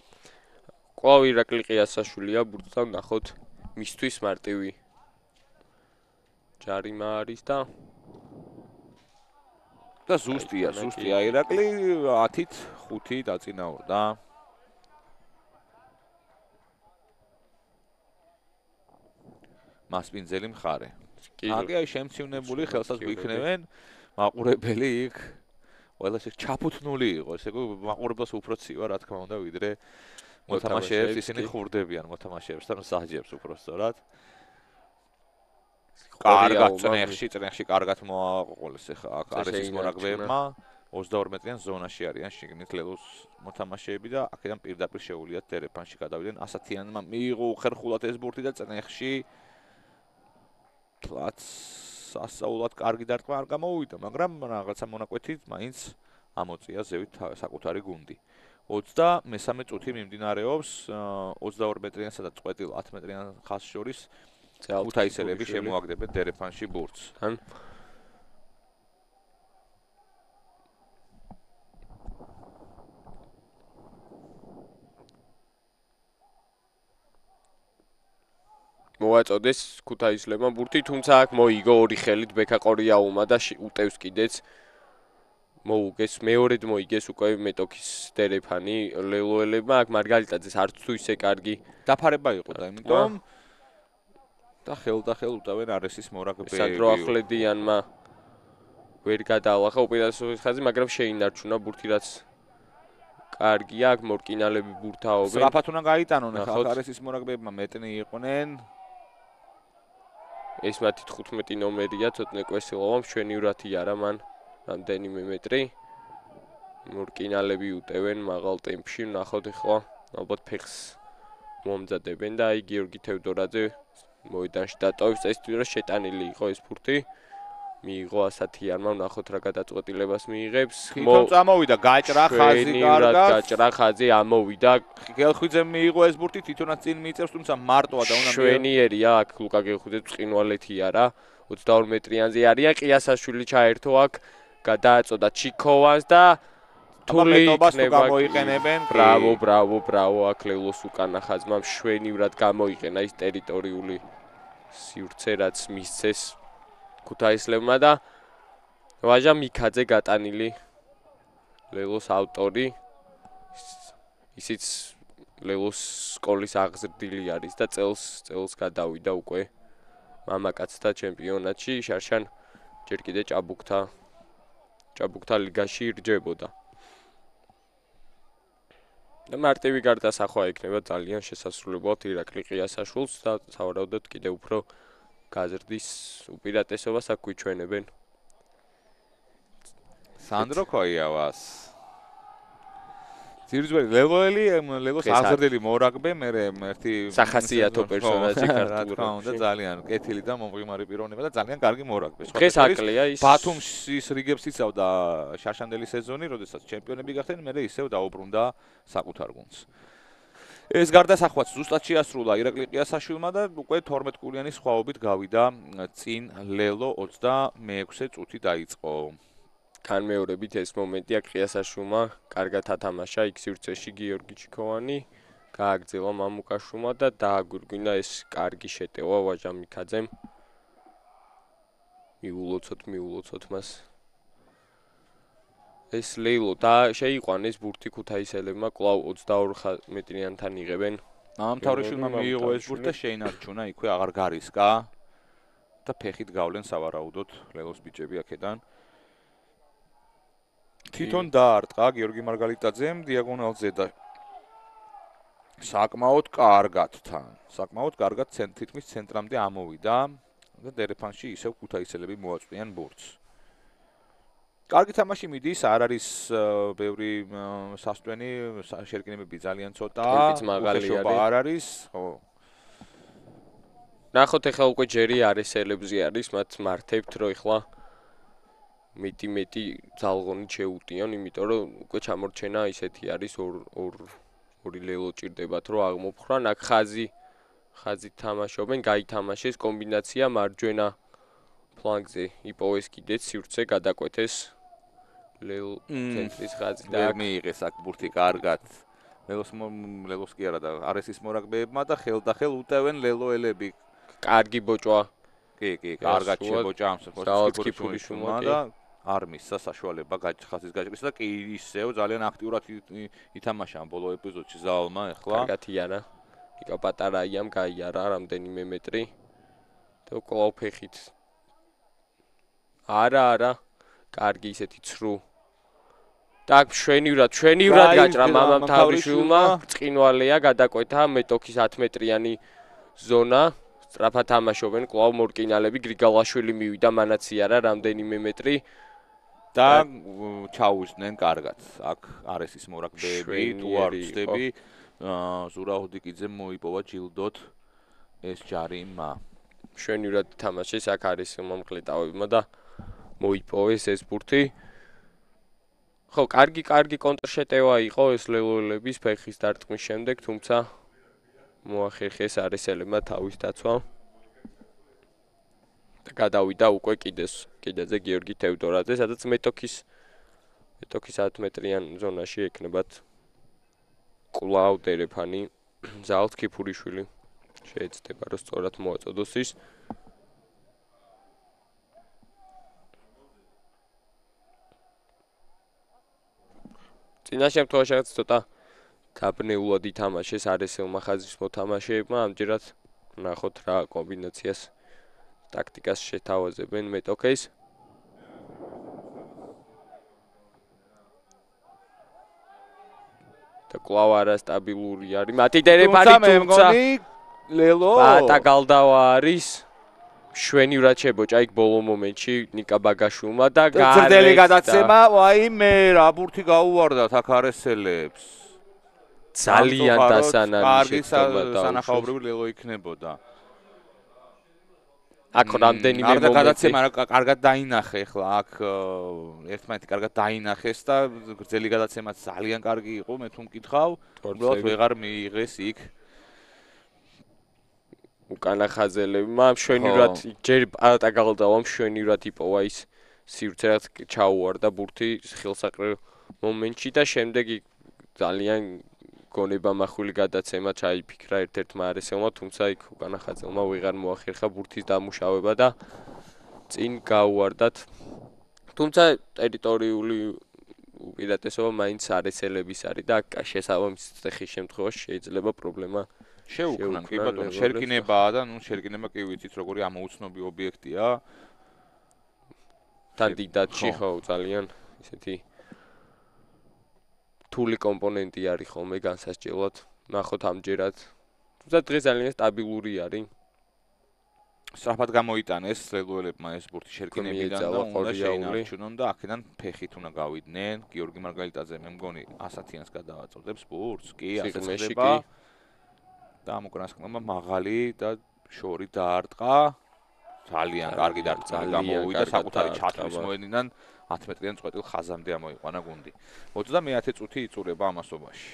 კვლავ ირაკლი ყიასაშვილია ბურთთან ნახოთ მისთვის მარტივი ჯარიმა არის და ზუსტია ირაკლი 10-ით 5 დაწინაურდა. მასპინძელი მხარე. აგი აი შემცინებული ხელსაც გვიქნევენ მაყურებელი იქ ყველა ეს ჩაფუთნული იყო ესე იგი მაყურებელს უფრო ცივა რა თქმა უნდა ვიდრე მოთამაშეებს ისინი ხურდებიან მოთამაშეებსთან საჯებს უფრო სწორად. კარგად წნეხში კარგად მოაყოლეს ახლა აქ არის მორაგბეებმა 22 მეტრიან ზონაში არიან შიგნით ლელოს მოთამაშეები და აქედან პირდაპირ შეუვლიათ დერეფანში გადავიდნენ ასათიანმა მიიღო უხერხულად ეს ბურთი და წნეხში სასაულად კარგი დარტყმა არ გამოვიდა, მაგრამ რაღაცა მონაკვეთით მაინც ამოწია ზევით საკუთარი გუნდი. 23 წუთი მიმდინარეობს 22 მეტრიანსა და წყვეტილ 10 მეტრიან ხაზს შორის ქუთაისელები შემოაგდებენ დერეფანში ბურთს. მოაწოდეს ქუთაისლებმა ბურთი, თუმცა აქ მოიგო ორი ხელით ბექა ყორიაულმა და უტევს კიდეც მოუგეს მეორედ მოიგეს უკვე მეტოქის დერეფანი ლელოელებმა აქ მარგალიტაძეს არც თუ ისე კარგი დაფარება იყო და იმიტომ და ხელ უტევენ არესის მორაგბეები. სადრო ახლებიანმა ვერ გადაალახა უპირატესობის ხაზი, მაგრამ შეინარჩუნა ბურთი რაც კარგია აქ მორკინალები ბურთაობენ. სწრაფად უნდა გაიტანონ ახლა არესის მორაგბეებმა მეტნი იყვნენ. ეს მათი 15 ნომერია, ცოტნე კვესილოვამ შვენივრათი არა მან რამდენიმე მეტრი. მორკინალები უტევენ მაღალ ტემპში, ნახოთ ახლა ალბათ ფეხს მომზადებენ და აი გიორგი თევდორაძე მოედანში დატოვებს, ეს თვითონ შეტანილი იყო ეს ბურთი. მიიღო ასათიანმა, ნახოთ რა გადაწყვეტილებას მიიღებს. თვითონ წამოვიდა გაჭრა ხაზი კარგად. გაჭრა ხაზი ამოვიდა. გელხვიძემ მიიღო ეს ბურთი, თვითონაც წინ მიიწევს, თუმცა მარტოა და უნდა შვენიერია აქ ლუკა გელხვიძე ბრწყინვალეთი არა. 22 მეტრიანზე არიან. ყიასაშვილი ჩაერთო აქ, გადააწოდა ჩიქოვანს და თულიტობას თუ გამოიყენებენ. ბრავო, აქ ლელოს უკანა ხაზმა შვენივრად გამოიყენა ის ტერიტორიული სივრცე, რაც მისცეს ქუთაისლებმა და ვაჟა მიქაძე გატანილი ლელოს ავტორი. ისიც ლელოს სკოლის აღზრდილი არის და წელს გადავიდა უკვე მამაკაცთა ჩემპიონატში. შარშან ჯერ კიდე ჭაბუკთა ლიგაში რჯებოდა. და მარტივი გარდასახვა იქნება ძალიან შესასრულებლად ირაკლი ყიასაშვილს და სავარაუდოდ კიდე უფრო გაზრდის უპირატესობას აქ გვიჩვენებენ. სანდრო ქოიავას. ძირჯველი ლელოს აღზრდილი მორაგბე, მე ერთი სახასიათო პერსონაჟი ქართულად. რა თქმა უნდა, ძალიან კეთილი და მომღიმარი პიროვნება და ძალიან კარგი მორაგბე. დღეს აკლია ის ბათუმის რიგებს იცავდა შაშანდელი სეზონი, როდესაც ჩემპიონები გახდნენ, მე ისევ დაუბრუნდა საკუთარ გუნდს. ეს გარდასახვაც ზუსტად შეასრულა ირაკლი ყიასაშვილმა და უკვე 12 კულიანის სხვაობით გავიდა წინ ლელო 26 წუთი დაიწყო. განმეორებით ეს მომენტი აქ ყიასაშვილმა კარგად ათამაშა იქ სივრცეში გიორგი ჩიქოვანი, გააგრძელა მამუკაშვილმა და დააგვირგვინა ეს კარგი შეტევა ვაჟა მიქაძემ. მიულოცოთ მას. ეს ლეილო და შეიყვანეს ბურთი ქუთაისელებმა კვლავ 22 მეტრიანთან იღებენ. ამთავრიშვილმა მიიღო ეს ბურთი და შეინარჩუნა იქვე აღარ გარისკა და ფეხით გავლენ სავარაუდოდ ლელოს ბიჭები აქედან. თვითონ დაარტყა გიორგი მარგალიტაძემ დიაგონალზე და საკმაოდ კარგად თითქმის ცენტრამდე ამოვიდა და დერეფანში ისევ ქუთაისელები მოაწყვიან ბურთს. კარგი თამაში მიდის, არ არის ბევრი სასტვენი, შერკინებები ძალიან ცოტაა, უხეშობა არ არის, ხო. ნახოთ ახლა უკვე ჯერი არესელებზე არის, მათ მართებთ რომ ახლა მეტი ძალღონით შეუტიან, იმიტომ რომ უკვე ჩამორჩენა ისეთი არის ორი ლელო ჭირდებათ რომ აღმოფხრან, აქ ხაზი თამაშობენ, გაითამაშეს კომბინაცია მარჯვენა ფლანგზე იპოვეს კიდეც სივრცე გადაკვეთეს ლელო ცენტრის ხაზი და მიიღეს აქ ბურთი კარგად ლელოს კი არა და არესის მორაგბეებმა და ხელდახელ უტევენ ლელოელები. კარგი ბოჭვა. კი, კარგად შებოჭა ამ სპორტსმენმა და არ მისცა საშუალება ხაზის გაჭრისა და კი ისევ ძალიან აქტიურად ითამაშა ამ ბოლო ეპიზოდში ზაალმა ახლა. კარგად იარა. იკა პატარაიამ გაიარა რამდენიმე მეტრი და კვლავ ფეხით. არა, კარგი ისეთი ცრუ. და შვენივრად გაჭრა მამამ თავრიშვილმა, ბრწყინვალეა გადაკვეთა მეტოქის 10 მეტრიანი ზონა. სწრაფად თამაშობენ კვლავ მორკინალები, გრიგალაშვილი მივიდა მანაც იარა რამდენიმე მეტრი და ჩაუზდნენ კარგად. აქ არესის მორაგბეები, თუ არ ვცდები, ზურა ოდიკიძემ მოიპოვა ჯილდოთ ეს ჯარიმა. შვენივრად თამაშეს აქ არის მომკლეტავებმა და მოიპოვეს ეს ბურთი. ხო, კარგი კონტრშეტევა იყო ეს ლელოელების ფეხის დარტყმის შემდეგ, თუმცა მოახერხეს არესელებმა თავის დაცვა. და გადავიდა უკვე კიდეზე გიორგი თევდორაძე, სადაც მეტოქის 10 მეტრიან ზონაში ეკნებათ კვლავ დერეფანი ზალთ ქიფურიშვილი. შეეცდება რომ სწორად მოაწოდოს ის. წინა შემთხვევაში ცოტა გაბნეულად ითამაშეს არესელმა ხაზის მოთამაშეებმა, ამჯერად ნახოთ რა კომბინაციას ტაქტიკას შეთავაზებენ მეტოქეს. და კვლავ არასტაბილური არის. მათი დერეფანი თუმცა ლელო პატა გალდავა არის. შვენივრად შებოჭა იქ ბოლო მომენტში ნიკა ბაგაშვილმა და გრძელი გადაცემა, ვაიმე რა ბურთი გაუვარდათ აქ არესელებს. ძალიან დასანანი შეცდომა და სანახაობრივი ლელო იქნებოდა. აქ რამდენიმე არ და მომენტი გადაცემა კარგად დაინახე ახლა აქ ერთმანეთი კარგად დაინახეს და გრძელი გადაცემაც ძალიან კარგი იყო მე თუ მკითხავ უბრალოდ ვეღარ მიიღეს იქ უკანა ხაზელები მაგრამ შვენივრად ჯერ პატა გალდავა შვენივრად იპოვა ის სივრცე რაც ჩაუვარდა ბურთი ხელსაყრელ მომენტში და შემდეგ ძალიან გონებამახვილი გადაცემა ჩაიფიქრა ერთ-ერთმა არესელმა თუმცა იქ უკანა ხაზელმა ვეღარ მოახერხა ბურთის დამუშავება და წინ გაუვარდათ თუმცა ტერიტორიული უპირატესობა მაინც არესელების არის და შესაბამისი წეხის შემთხვევაში შეიძლება პრობლემა შეუქმნან კი ბატონო შერკინებაა და ნუ შერკინება კი ვიცით როგორი ამოუცნობი ობიექტია თან დიდადში ხო ძალიან ისეთი თული კომპონენტი არის ხოლმე განსასჯელად ნახოთ ამჯერად თუმცა დღეს ძალიან სტაბილური არის სწრაფად გამოიტანეს ლელუელებმა ეს ბურთი შერკინებიდან და უნდა შეინარჩუნონ და აქედან ფეხით უნდა გავიდნენ გიორგი მარგალიტაძე მე მგონი 100-იანს გადავაწოდებს ბურთს კი ასე ხდება და ამ უკანასკნელმა მაღალი და შორი დაარტყა ძალიან კარგი დარტყმა გამოვიდა საკუთარი ჩათვლის მოედნიდან 10 მეტრიან წვეტილ ხაზამდე ამოიყვანა გუნდი 30 წუთი იწურება ამასობაში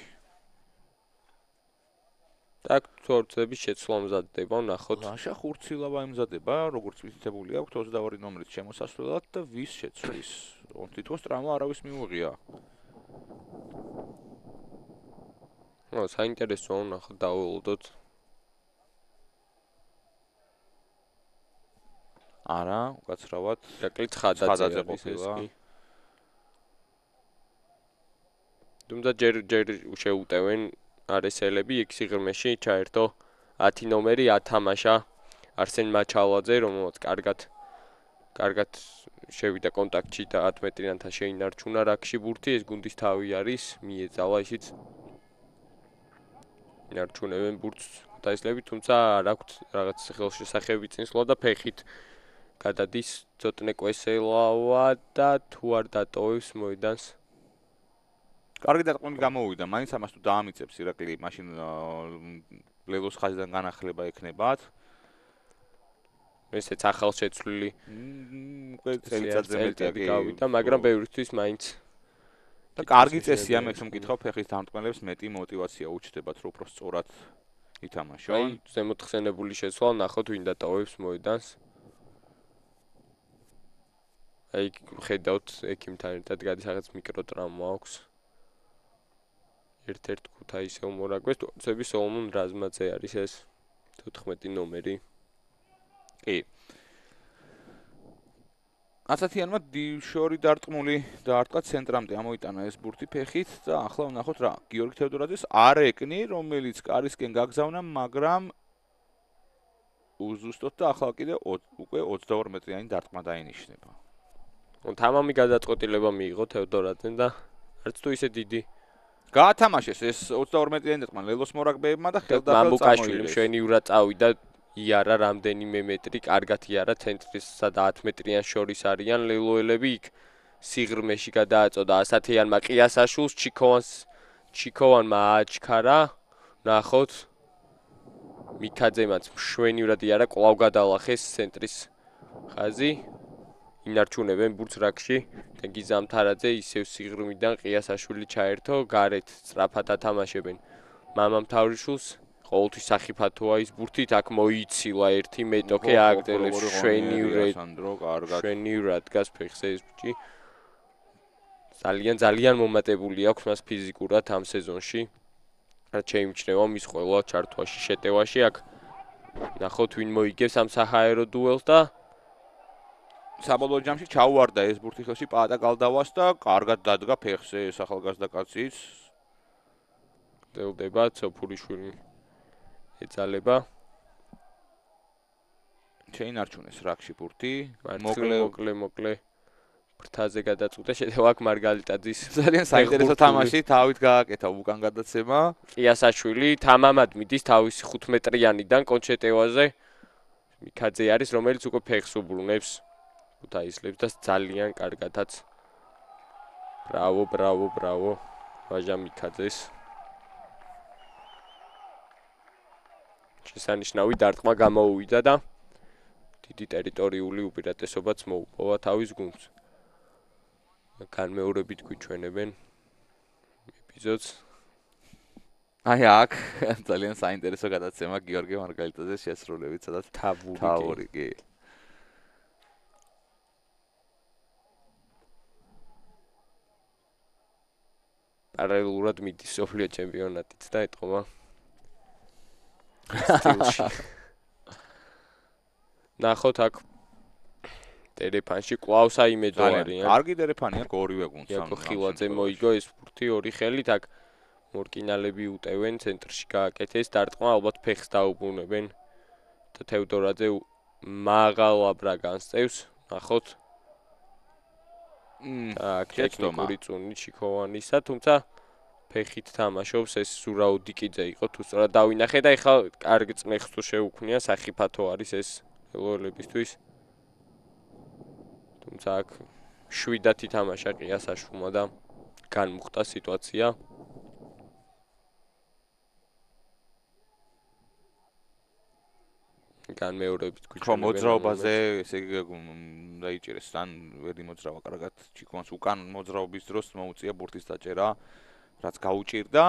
так თორცების შეცვლა მზადდება ნახოთ ლაშა ხურცილავა იმზადება როგორც ვიცითებული აქვს 22 ნომრით შემოსასვლელად და ვის შეცვლის თითქოს ტრამა არავის მიუღია ნუ საინტერესოა ნახოთ დაველოდოთ არა უკაცრავად ირაკლი ცხადაძე ყოფილა თუმცა ჯერ შეუტევენ არესელები იქ სიღრმეში ჩაერთო 10 ნომერი ათამაშა არსენ მაჩალაძე რომელსაც კარგად შევიდა კონტაქტში და 10 მეტრიანთან შეინარჩუნა რაკში ბურთი ეს გუნდის თავი არის მიეძალა ისიც ინარჩუნებენ ბურთს დაისლები თუმცა არ აქვს რაღაც ხელშესახები წინსვლა და ფეხით გადადის ცოტნე კვესელავა და თუ არ დატოვებს მოედანს კარგი დარტყმები გამოუვიდა მაინც ამას თუ დაამიწებს ირაკლი მაშინ ლელოს ხაზიდან განახლება ექნებათ ესეც ახალ შეცვლილი უკვე წელიწადზე მეტი გავიდა მაგრამ ბევრისთვის მაინც და კარგი წესია მე თუ მკითხავ ფეხის დამტყმელებს მეტი мотиваცია უჩნდებათ რომ უფრო სწორად ითამაშონ აი ზემოთხსენებული შეცვლა ნახოთ ვინ დატოვებს მოედანს აი ხედავთ ექიმთან ერთად გადის რაღაც მიკროტრაუმა აქვს ერთ-ერთ ქუთაისელ მორაგბეს თორცები სოლომონ რაზმაძე არის ეს 14 ნომერი კი ასათიანმა შორი დარტყმული დაარტყა ცენტრამდე ამოიტანა ეს ბურთი ფეხით და ახლა ვნახოთ რა გიორგი თევდორაძეს არ ეკნი რომელიც კარისკენ გაგზავნა მაგრამ უზუსტოდ და ახლა კიდე უკვე 22 მეტრიანი დარტყმა დაინიშნება თამამი გადაწყვეტილება მიიღო თევდორაძემ და არც თუ ისე დიდი გაათამაშეს ეს 22 მეტრიანი დარტყმა ლელოს მორაგბეებმა და ხელდაბრალ მამუკაშვილი მშვენივრად წავიდა იარა რამდენიმე მეტრი კარგად იარა ცენტრისა და 10 მეტრიან შორის არიან ლელოელები იქ სიღრმეში გადააწოდა ასათიანმა ყიასაშვილს ჩიქოვანმა აჩქარა ნახოთ მიქაძემაც მშვენივრად იარა კვლავ გადალახეს ცენტრის ხაზი ინარჩუნებენ ბურთს რაკში და გიზამთარაძე ისევ სიღრმიდან ყიასაშვილი ჩაერთო გარეთ სწრაფად ათამაშებენ მამამთავრიშვილს ყოველთვის სახიფათოა ის ბურთით აქ მოიცილა ერთი მეტოქე აგდელებს შვენივრად დგას ფეხზე ეს ბიჭი ძალიან მომატებული აქვს მას ფიზიკურად ამ სეზონში რაც შეიმჩნევა მის ყველა ჩართვაში შეტევაში აქ ნახოთ ვინ მოიგებს ამ საჰაერო დუელს და საბოლოო ჯამში ჩაუვარდა ეს ბურთი ხელში პაატა გალდავას და კარგად დადგა ფეხზე ეს ახალგაზრდა კაციც გდელდება ცოფურიშვილი ეძალება შეინარჩუნეს რაკში ბურთი მოკლე ფრთაზე გადაწყვეტა შედევა აქ მარგალიტაძის ძალიან საინტერესო თამაში თავით გააკეთა უკან გადაცემა ყიასაშვილი თამამად მიდის თავისი 5 მეტრიანიდან კონჩეტევაზე მიქაძე არის რომელიც უკვე ფეხს უბრუნებს ქუთაისლებს და ძალიან კარგადაც ბრავო ვაჟა მიქაძეს შესანიშნავი დარტყმა გამოუვიდა და დიდი ტერიტორიული უპირატესობაც მოუპოვა თავის გუნდს. განმეორებით გვიჩვენებენ ეპიზოდს. აი აქ ძალიან საინტერესო გადაცემა გიორგი მარგალიტაძეს შესრულებით, სადაც თავური კი. პარალელურად მიდის სოფლიო ჩემპიონატიც და ეთყობა სტილში. ნახოთ აქ ტერეფანში კვლავ საიმედო არიან. კარგი ტერეფანია ორივე გუნდს. იაკო ხილაძე მოიგო ეს ფურთი ორი ხელით აქ მორკინალები უტევენ ცენტრში გააკეთეს დარტყმა ალბათ ფეხს დაუბრუნებენ და თევდორაძე მაღალ აბრა განსწევს. ნახოთ ტექნიკური წუნი ჩიქოვანისა, თუმცა ფეხით თამაშობს ეს ზურაუდიკიძე იყო თუ სწორად დავინახე და ეხლა კარგ წნეხს თუ შეუქმნია სახიფათო არის ეს ელოელებისთვის. თუმცა აქ შვიდათი თამაშა ყია საშუმა და განმუხტა სიტუაცია. განმეორებით გვიჩვენებენ. მოძრაობაზე ესე იგი დაიჭირეს ან ვერ იმოძრავა კარგად ჩიქოვანს უკან მოძრაობის დროს მოუწია ბურთის დაჭერა, რაც გაუჭირდა.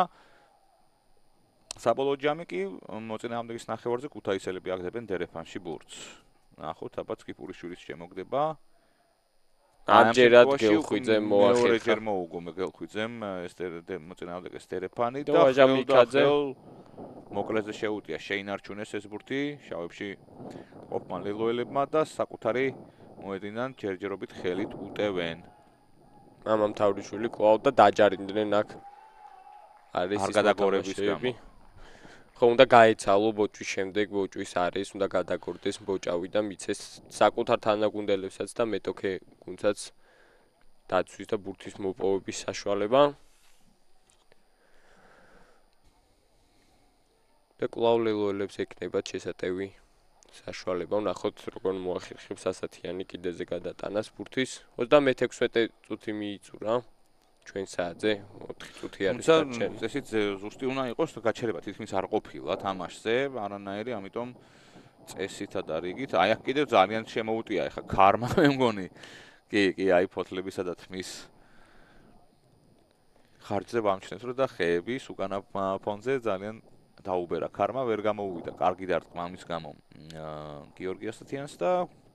საბოლოო ჯამი კი მოწინააღმდეგის ნახევარზე ქუთაისელები აგდებენ დერეფანში ბურთს. ნახოთ, აბა წკიპურიშვილის შემოგდება. ამჯერად გელხვიძემ მოახერხა. მეორეჯერ მოუგო გელხვიძემ ეს მოწინააღმდეგეს დერეფანი და ვაჟამიკაძე მოკლეზე შეუტია შეინარჩუნეს ეს ბურთი შავებში ყოფმა ლელოელებმა და საკუთარი მოედინან ჯერჯერობით ხელით უტევენ. მამამ თავრიშვილი კვლავ და დაჯარიმდნენ აქ. არის ის გადაგორების გამო. ხო უნდა გაეცალო ბოჭვის შემდეგ ბოჭვის არის უნდა გადაგორდეს ბოჭავი და მიცეს საკუთარ თანაგუნდელებსაც და მეტოქე გუნდსაც დაცვის და ბურთის მოპოვების საშუალება. და კვლავ ლელოელებს ექნებათ შესატევი საშუალება. ნახოთ როგორ მოახერხებს ასათიანი კიდეზე გადატანას ბურთის. 36 წუთი მიიწურა ჩვენ საათზე 4 წუთი არის დარჩენილი. თუმცა ესეც ზუსტი უნდა იყოს გაჩერება თითქმის არ ყოფილა თამაშზე, არანაირი, ამიტომ წესითა და რიგით. აი აქ კიდევ ძალიან შემოუტია ეხა ქარმა მე მგონი. კი, აი ფოთლებისა და თმის ხარჯზე ვამჩნევთ რომ და ხეების უკანა ფონზე ძალიან დაუბერა ქარმა ვერ გამოუვიდა კარგი დარტყმა ამის გამო გიორგი ასათიანს და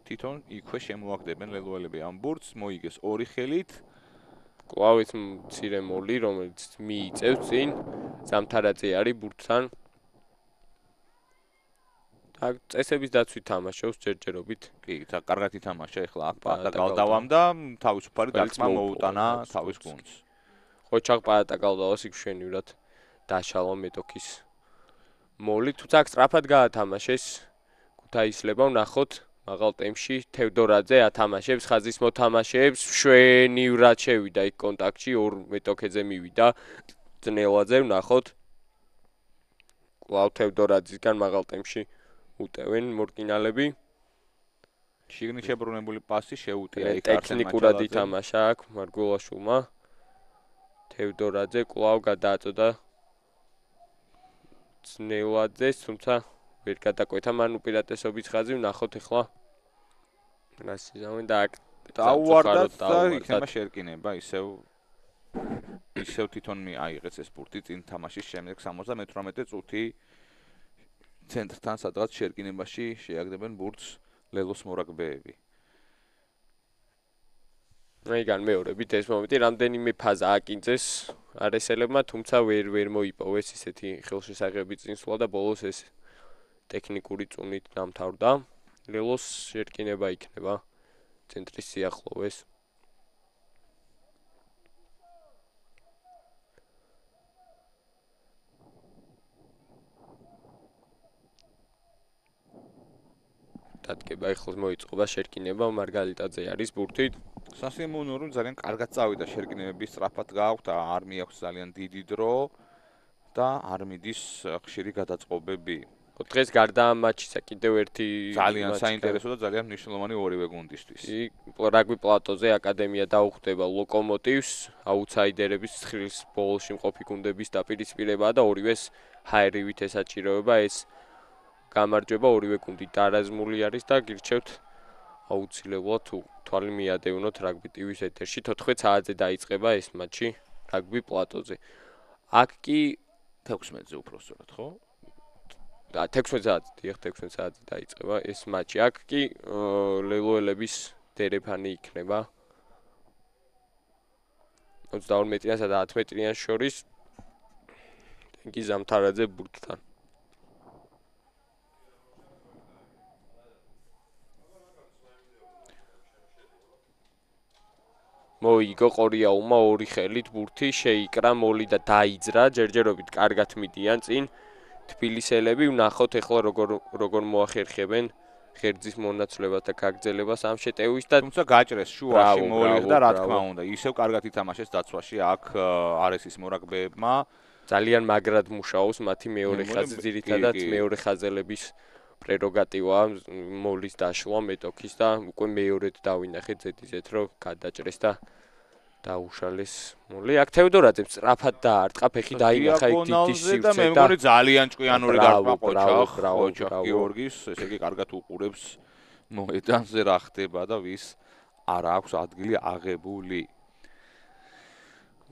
თვითონ იქვე შემოაგდებენ ლელოელები ამ ბურთს მოიგეს ორი ხელით კვლავ ის მცირე მოლი რომელიც მიიწევს წინ ზამთარაძე არის ბურთთან და წესების დაცვით თამაშობს ჯერჯერობით კი კარგად ითამაშა ეხლა აქ პატა გალდავამ და თავისუფალი დარტყმა მოუტანა თავის გუნდს ხოჩაღ პატა გალდავას იქ დაშალა მეტოქის მოლი თუცა აქ სწრაფად გაათამაშეს ქუთაისლებმა ვნახოთ მაღალ ტემპში თევდორაძე ათამაშებს ხაზის მოთამაშეებს შვენივრად შევიდა იქ კონტაქტში ორ მეტოქეზე მივიდა ძნელაძე ვნახოთ კვლავ თევდორაძისგან მაღალ ტემპში უტევენ მორკინალები შიგნით შებრუნებული პასი შეუტია იქ ტექნიკურად ითამაშა აქ მარგულაშვილმა თევდორაძე კვლავ გადააწოდა ძნელაძეს, თუმცა ვერ გადაკვეთა მან უპირატესობის ხაზი, ვნახოთ ახლა. რასიზავენ და აქ დაუვარდათ და იქნება შერკინება, ისევ თვითონ აიღეს ეს ბურთი წინ თამაშის შემდეგ 78 წუთი ცენტრთან სადღაც შერკინებაში შეაგდებენ ბურთს ლელოს მორაგბეები. რაიგან მეორებით ეს მომენტი რამდენიმე ფაზა აკინძეს არესელებმა, თუმცა ვერ მოიპოვეს ისეთი ხელშესაღები წინსვლა და ბოლოს ეს ტექნიკური წუნით დამთავრდა. ლელოს შერკინება იქნება ცენტრის სიახლოვეს. დადგება ეხლა მოიწყობა შერკინება მარგალიტაძე არის ბურთით. სასიამოვნოა რომ ძალიან კარგად წავიდა შერკინებები სწრაფად გააქვთ არ მიაქვს ძალიან დიდი დრო და არ მიდის ხშირი გადაწყობები. დღეს გარდა ამ მატჩისა კიდევ ერთი ძალიან საინტერესო და ძალიან მნიშვნელოვანი ორივე გუნდისთვის. რაგბი პლატოზე აკადემია დაუხვდება ლოკომოტივს, აუთსაიდერების ცხრილის ბოლოში მყოფი გუნდების დაპირისპირებაა და ორივეს ჰაერივით ესაჭიროება ეს გამარჯვება ორივე გუნდი დარაზმული არის და გირჩევთ აუცილებლად თუ თვალი მიადევნოთ რაგბი ტივის ეთერში 14 საათზე დაიწყება ეს მატჩი რაგბი პლატოზე. აქ კი 16-ზე უფრო სწორად, ხო? 16 საათზე, დიახ 16 საათზე დაიწყება ეს მატჩი. აქ კი ლელოელების დერეფანი იქნება. 22-მეტრიანსა და 10 მეტრიან შორის ტენგი ზამთარაძე ბურთთან. მოიგო ყორიაულმა ორი ხელით ბურთი შეიკრა მოლი და დაიძრა ჯერჯერობით კარგად მიდიან წინ თბილისელები ვნახოთ ეხლა როგორ მოახერხებენ ღერძის მონაცვლებას და გაგრძელებას ამ შეტევის და თუმცა გაჭრეს შუაში მოიღდა რა თქმა უნდა ისევ კარგად ითამაშეს დაცვაში აქ არესის მორაგბეებმა ძალიან მაგრად მუშაობს მათი მეორე ხაზი ძირითადად მეორე ხაზელების პრეროგატივაა მოლის დაშლა მეტოქის და უკვე მეორედ დავინახეთ ზედიზეთ რომ გადაჭრეს და დაუშალეს მოლი აქ თევდორაძემ სწრაფად დაარტყა ფეხი დაინახა იქ დიდი სივრცე და მე მგონი ძალიან ჭკვიანური დარტყმა ყოჩა გიორგის ესე იგი კარგად უყურებს მოედანზე რა ხდება და ვის არ აქვს ადგილი აღებული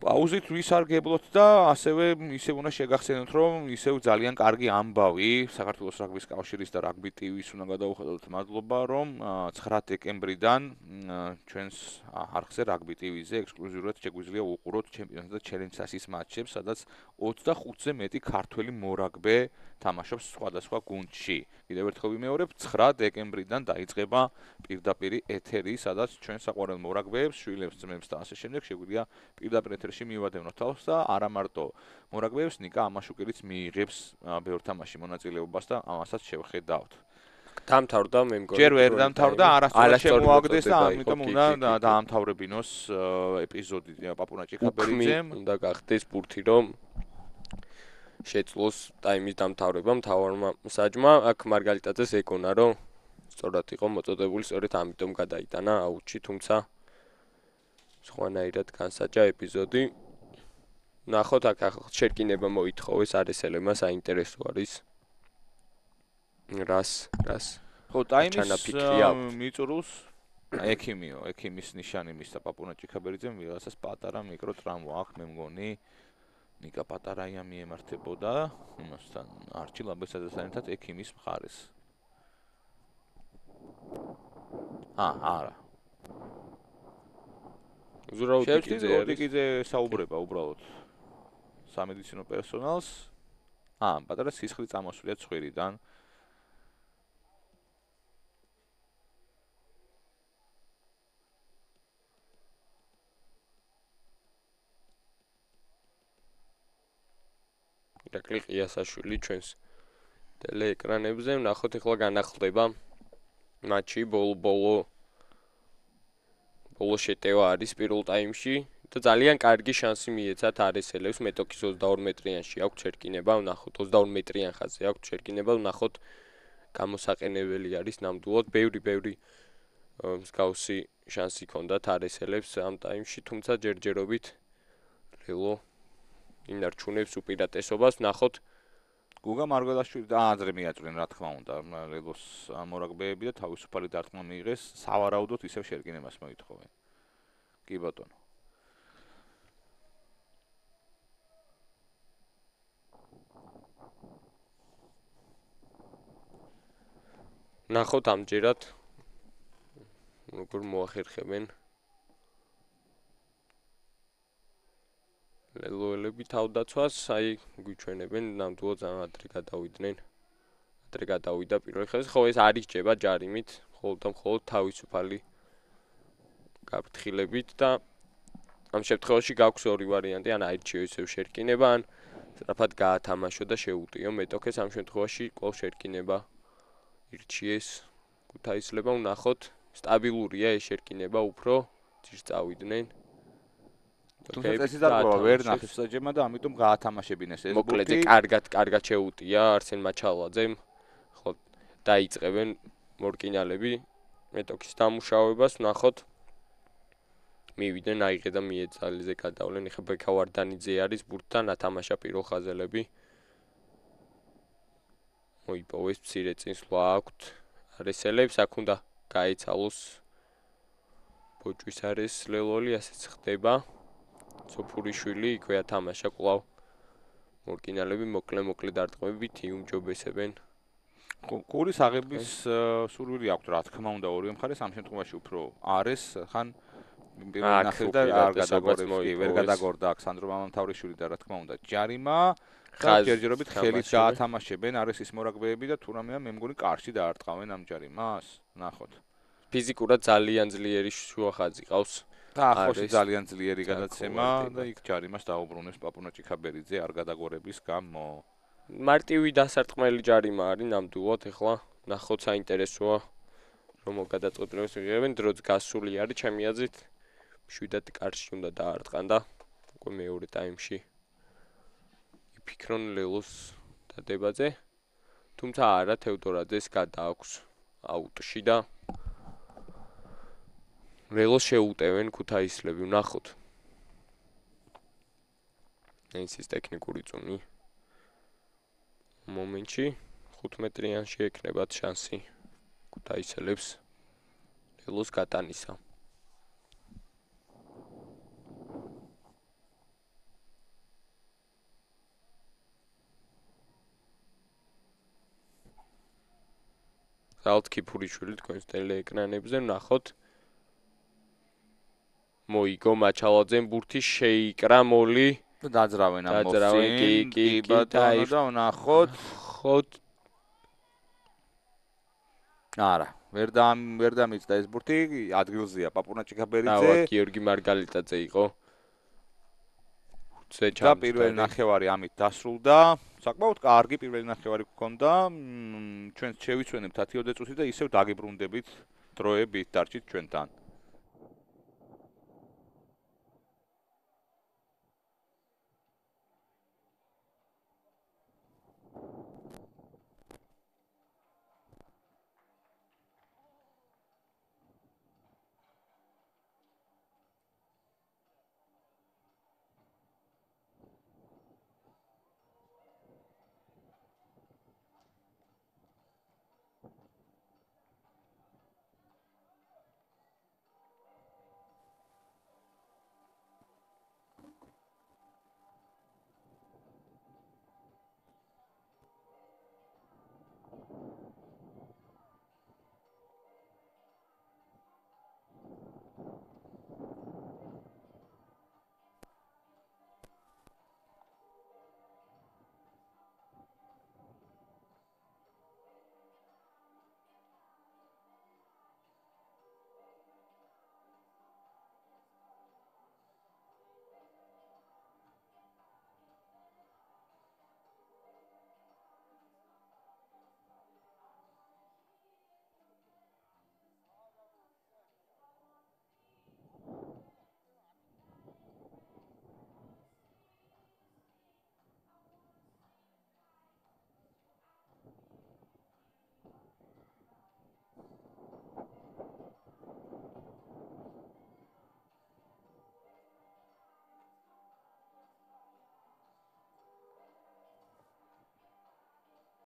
პაუზით ვის არ გებლოთ და ასევე ისევ უნდა შეგახსენოთ რომ ისევ ძალიან კარგი ამბავი საქართველოს რაგბის კავშირის და რაგბი ტივის უნდა გადავუხადოთ მადლობა რომ 9 დეკემბრიდან ჩვენს არხზე რაგბი ტივიზე ექსკლუზიურად შეგვიძლია უყუროთ ჩემპიონატ და ჩელენჯ-სასის მატჩებს სადაც 25-ზე მეტი ქართველი მორაგბე თამაშობს სხვადასხვა გუნდში კიდევ ერთხელ ვიმეორებ 9 დეკემბრიდან დაიწყება პირდაპირ ეთერი სადაც ჩვენ საყვარელ მორაგბეებს შვილებს ძმებს და ასე შემდეგ შეგვიძლია პირდაპირ ეთერში მივადევნოთ თავს და არა მარტო მორაგბეებს ნიკა ამაშუკელიც მიიღებს ბევრ თამაში მონაწილეობას და ამასაც შევხედავთ. დამთავრდა მე მგონი. ჯერ ვერ დამთავრდა, არასწორად შემოაგდეს და ამიტომ უნდა დაამთავრებინოს ეპიზოდი პაპუნა ჭიქაბერიძემ. უნდა გახდეს ბურთი რომ შეძლოს ტაიმის დამთავრება მთავარმა საჯმა. აქ მარგალიტაძეს ეკონა რომ სწორად იყო მოწოდებული, სწორედ ამიტომ გადაიტანა აუტში, თუმცა სხვანაირად განსაჯა ეპიზოდი. ნახოთ აქ შეკინება მოითხოვეს არესელებმა საინტერესო არის. რას ხო ტაიმის მიწურულს ექიმის ნიშანი მისცა პაპუნა ჭიქაბერიძემ ვიღაცას პატარა მიკრო ტრამვა აქვს მე მგონი ნიკა პატარაია მიემართებოდა იმასთან არჩილ აბესაძესთან ერთად ექიმის მხარეს არა ზურაუტიკიძე საუბრება უბრალოდ სამედიცინო პერსონალს პატარა სისხლი წამოსვლია ცხვირიდან ირაკლი ყიასაშვილი ჩვენს ტელეეკრანებზე ვნახოთ ეხლა განახლდება მატჩი ბოლო შეტევა არის პირველ ტაიმში და ძალიან კარგი შანსი მიეცათ არესელებს მეტოქის 22 მეტრიანში აქვს შერკინება ვნახოთ 22 მეტრიან ხაზზე აქვს შერკინება ვნახოთ გამოსაყენებელი არის ნამდვილად ბევრი მსგავსი შანსი ჰქონდათ არესელებს ამ ტაიმში თუმცა ჯერჯერობით ლელო ინარჩუნებს უპირატესობას ვნახოთ გუგა მარგველაშვილი და აზრი მიაწვნენ რა თქმა უნდა ლელოს მორაგბეები და თავისუფალი დარტყმა მიიღეს სავარაუდოდ ისევ შერკინებას მოითხოვენ კი ბატონო ნახოთ ამჯერად როგორ მოახერხებენ ლელოელები თავდაცვას, აი გვიჩვენებენ ნამდვილად ადრე გადავიდა პირველ ხაზში. ხო ეს არ იჭება ჯარიმით, მხოლოდ თავისუფალი გაფრთხილებით და ამ შემთხვევაში გაქვს ორი ვარიანტი, ან აირჩიო ისევ შერკინება, ან სწრაფად გაათამაშო და შეუტიო მეტოქეს ამ შემთხვევაში კვლავ შერკინება ირჩიეს ქუთაისლებმა ვნახოთ სტაბილურია ეს შერკინება უფრო ძირს წავიდნენ თუმცა წესი დარღვევა ვერ ნახეს საჯემა და ამიტომ გაათამაშებინეს ეს ბურთი. მოკლედ კარგად შეუტია არსენ მაჩალაძემ. ხო დაიწყებენ მორკინალები მეტოქის დამუშავებას ვნახოთ. მივიდნენ აიღე და მიეცალიზე გადავლენ. ეხლა ბექავარდანიძე არის ბურთთან ათამაშა პირველ ხაზელები. მოიპოვეს მცირე წინსვლა აქვთ არესელებს. აქ უნდა გაიცალოს ბოჭვის არის ლელოლი, ასეც ხდება. სოფურიშვილი იქვე ათამაშა კვლავ. მორკინალები მოკლე დარტყმებით იუმჯობესებენ. კურის აღების სურვილი აქვს რა თქმა უნდა ორივე მხარეს ამ შემთხვევაში უფრო არის ხან პირველი ნახევარდა არ გადაგორებს კი ვერ გადაგორდა აქ სანდრო მამამთავრიშვილი და რა თქმა უნდა ჯარიმა და ჯერჯერობით ხელით გაათამაშებენ არის ის მორაგბეები და თუ რამეა მე მგონი კარში დაარტყავენ ამ ჯარიმას ნახოთ ფიზიკურად ძალიან ძლიერი შუახაზი ყავს და ახლოს ძალიან ძლიერი გადაცემა და იქ ჯარიმას დაუბრუნებს პაპუნა ჭიქაბერიძე არ გადაგორების გამო მარტივი დასარტყმელი ჯარიმა არის ნამდვილად ეხლა ნახოთ საინტერესოა რომ გადაწყვეტილებას მიიღებენ დროც გასული არის ჩემი აზრით შვიდად კარში უნდა დაარტყან და უკვე მეორე ტაიმში იფიქრონ ლელოს დადებაზე თუმცა არა თევდორაძეს გადააქვს აუტში და ლელოს შეუტევენ ქუთაისლები ვნახოთ ეს ტექნიკური წუნი მომენტში 15-იანში ეკნებათ შანსი ქუთაისელებს ლელოს გატანისა ზალთ ქიფურიშვილი თქვენს ტელეეკრანებზე ვნახოთ მოიგო მაჩალაძემ ბურთი შეიკრა მოლი დაძრავენ ამ მოვსინ კი ბატონო და ვნახოთ არა ვერ დამიწდა ეს ბურთი ადგილზეა პაპუნა ჭიქაბერიძე და გიორგი მარგალიტაძე იყო და პირველი ნახევარი ამით დასრულდა საკმაოდ კარგი პირველი ნახევარი გქონდა ჩვენ შევიცვენებთ 10 წუთი და ისევ დაგიბრუნდებით დროებით დარჩით ჩვენთან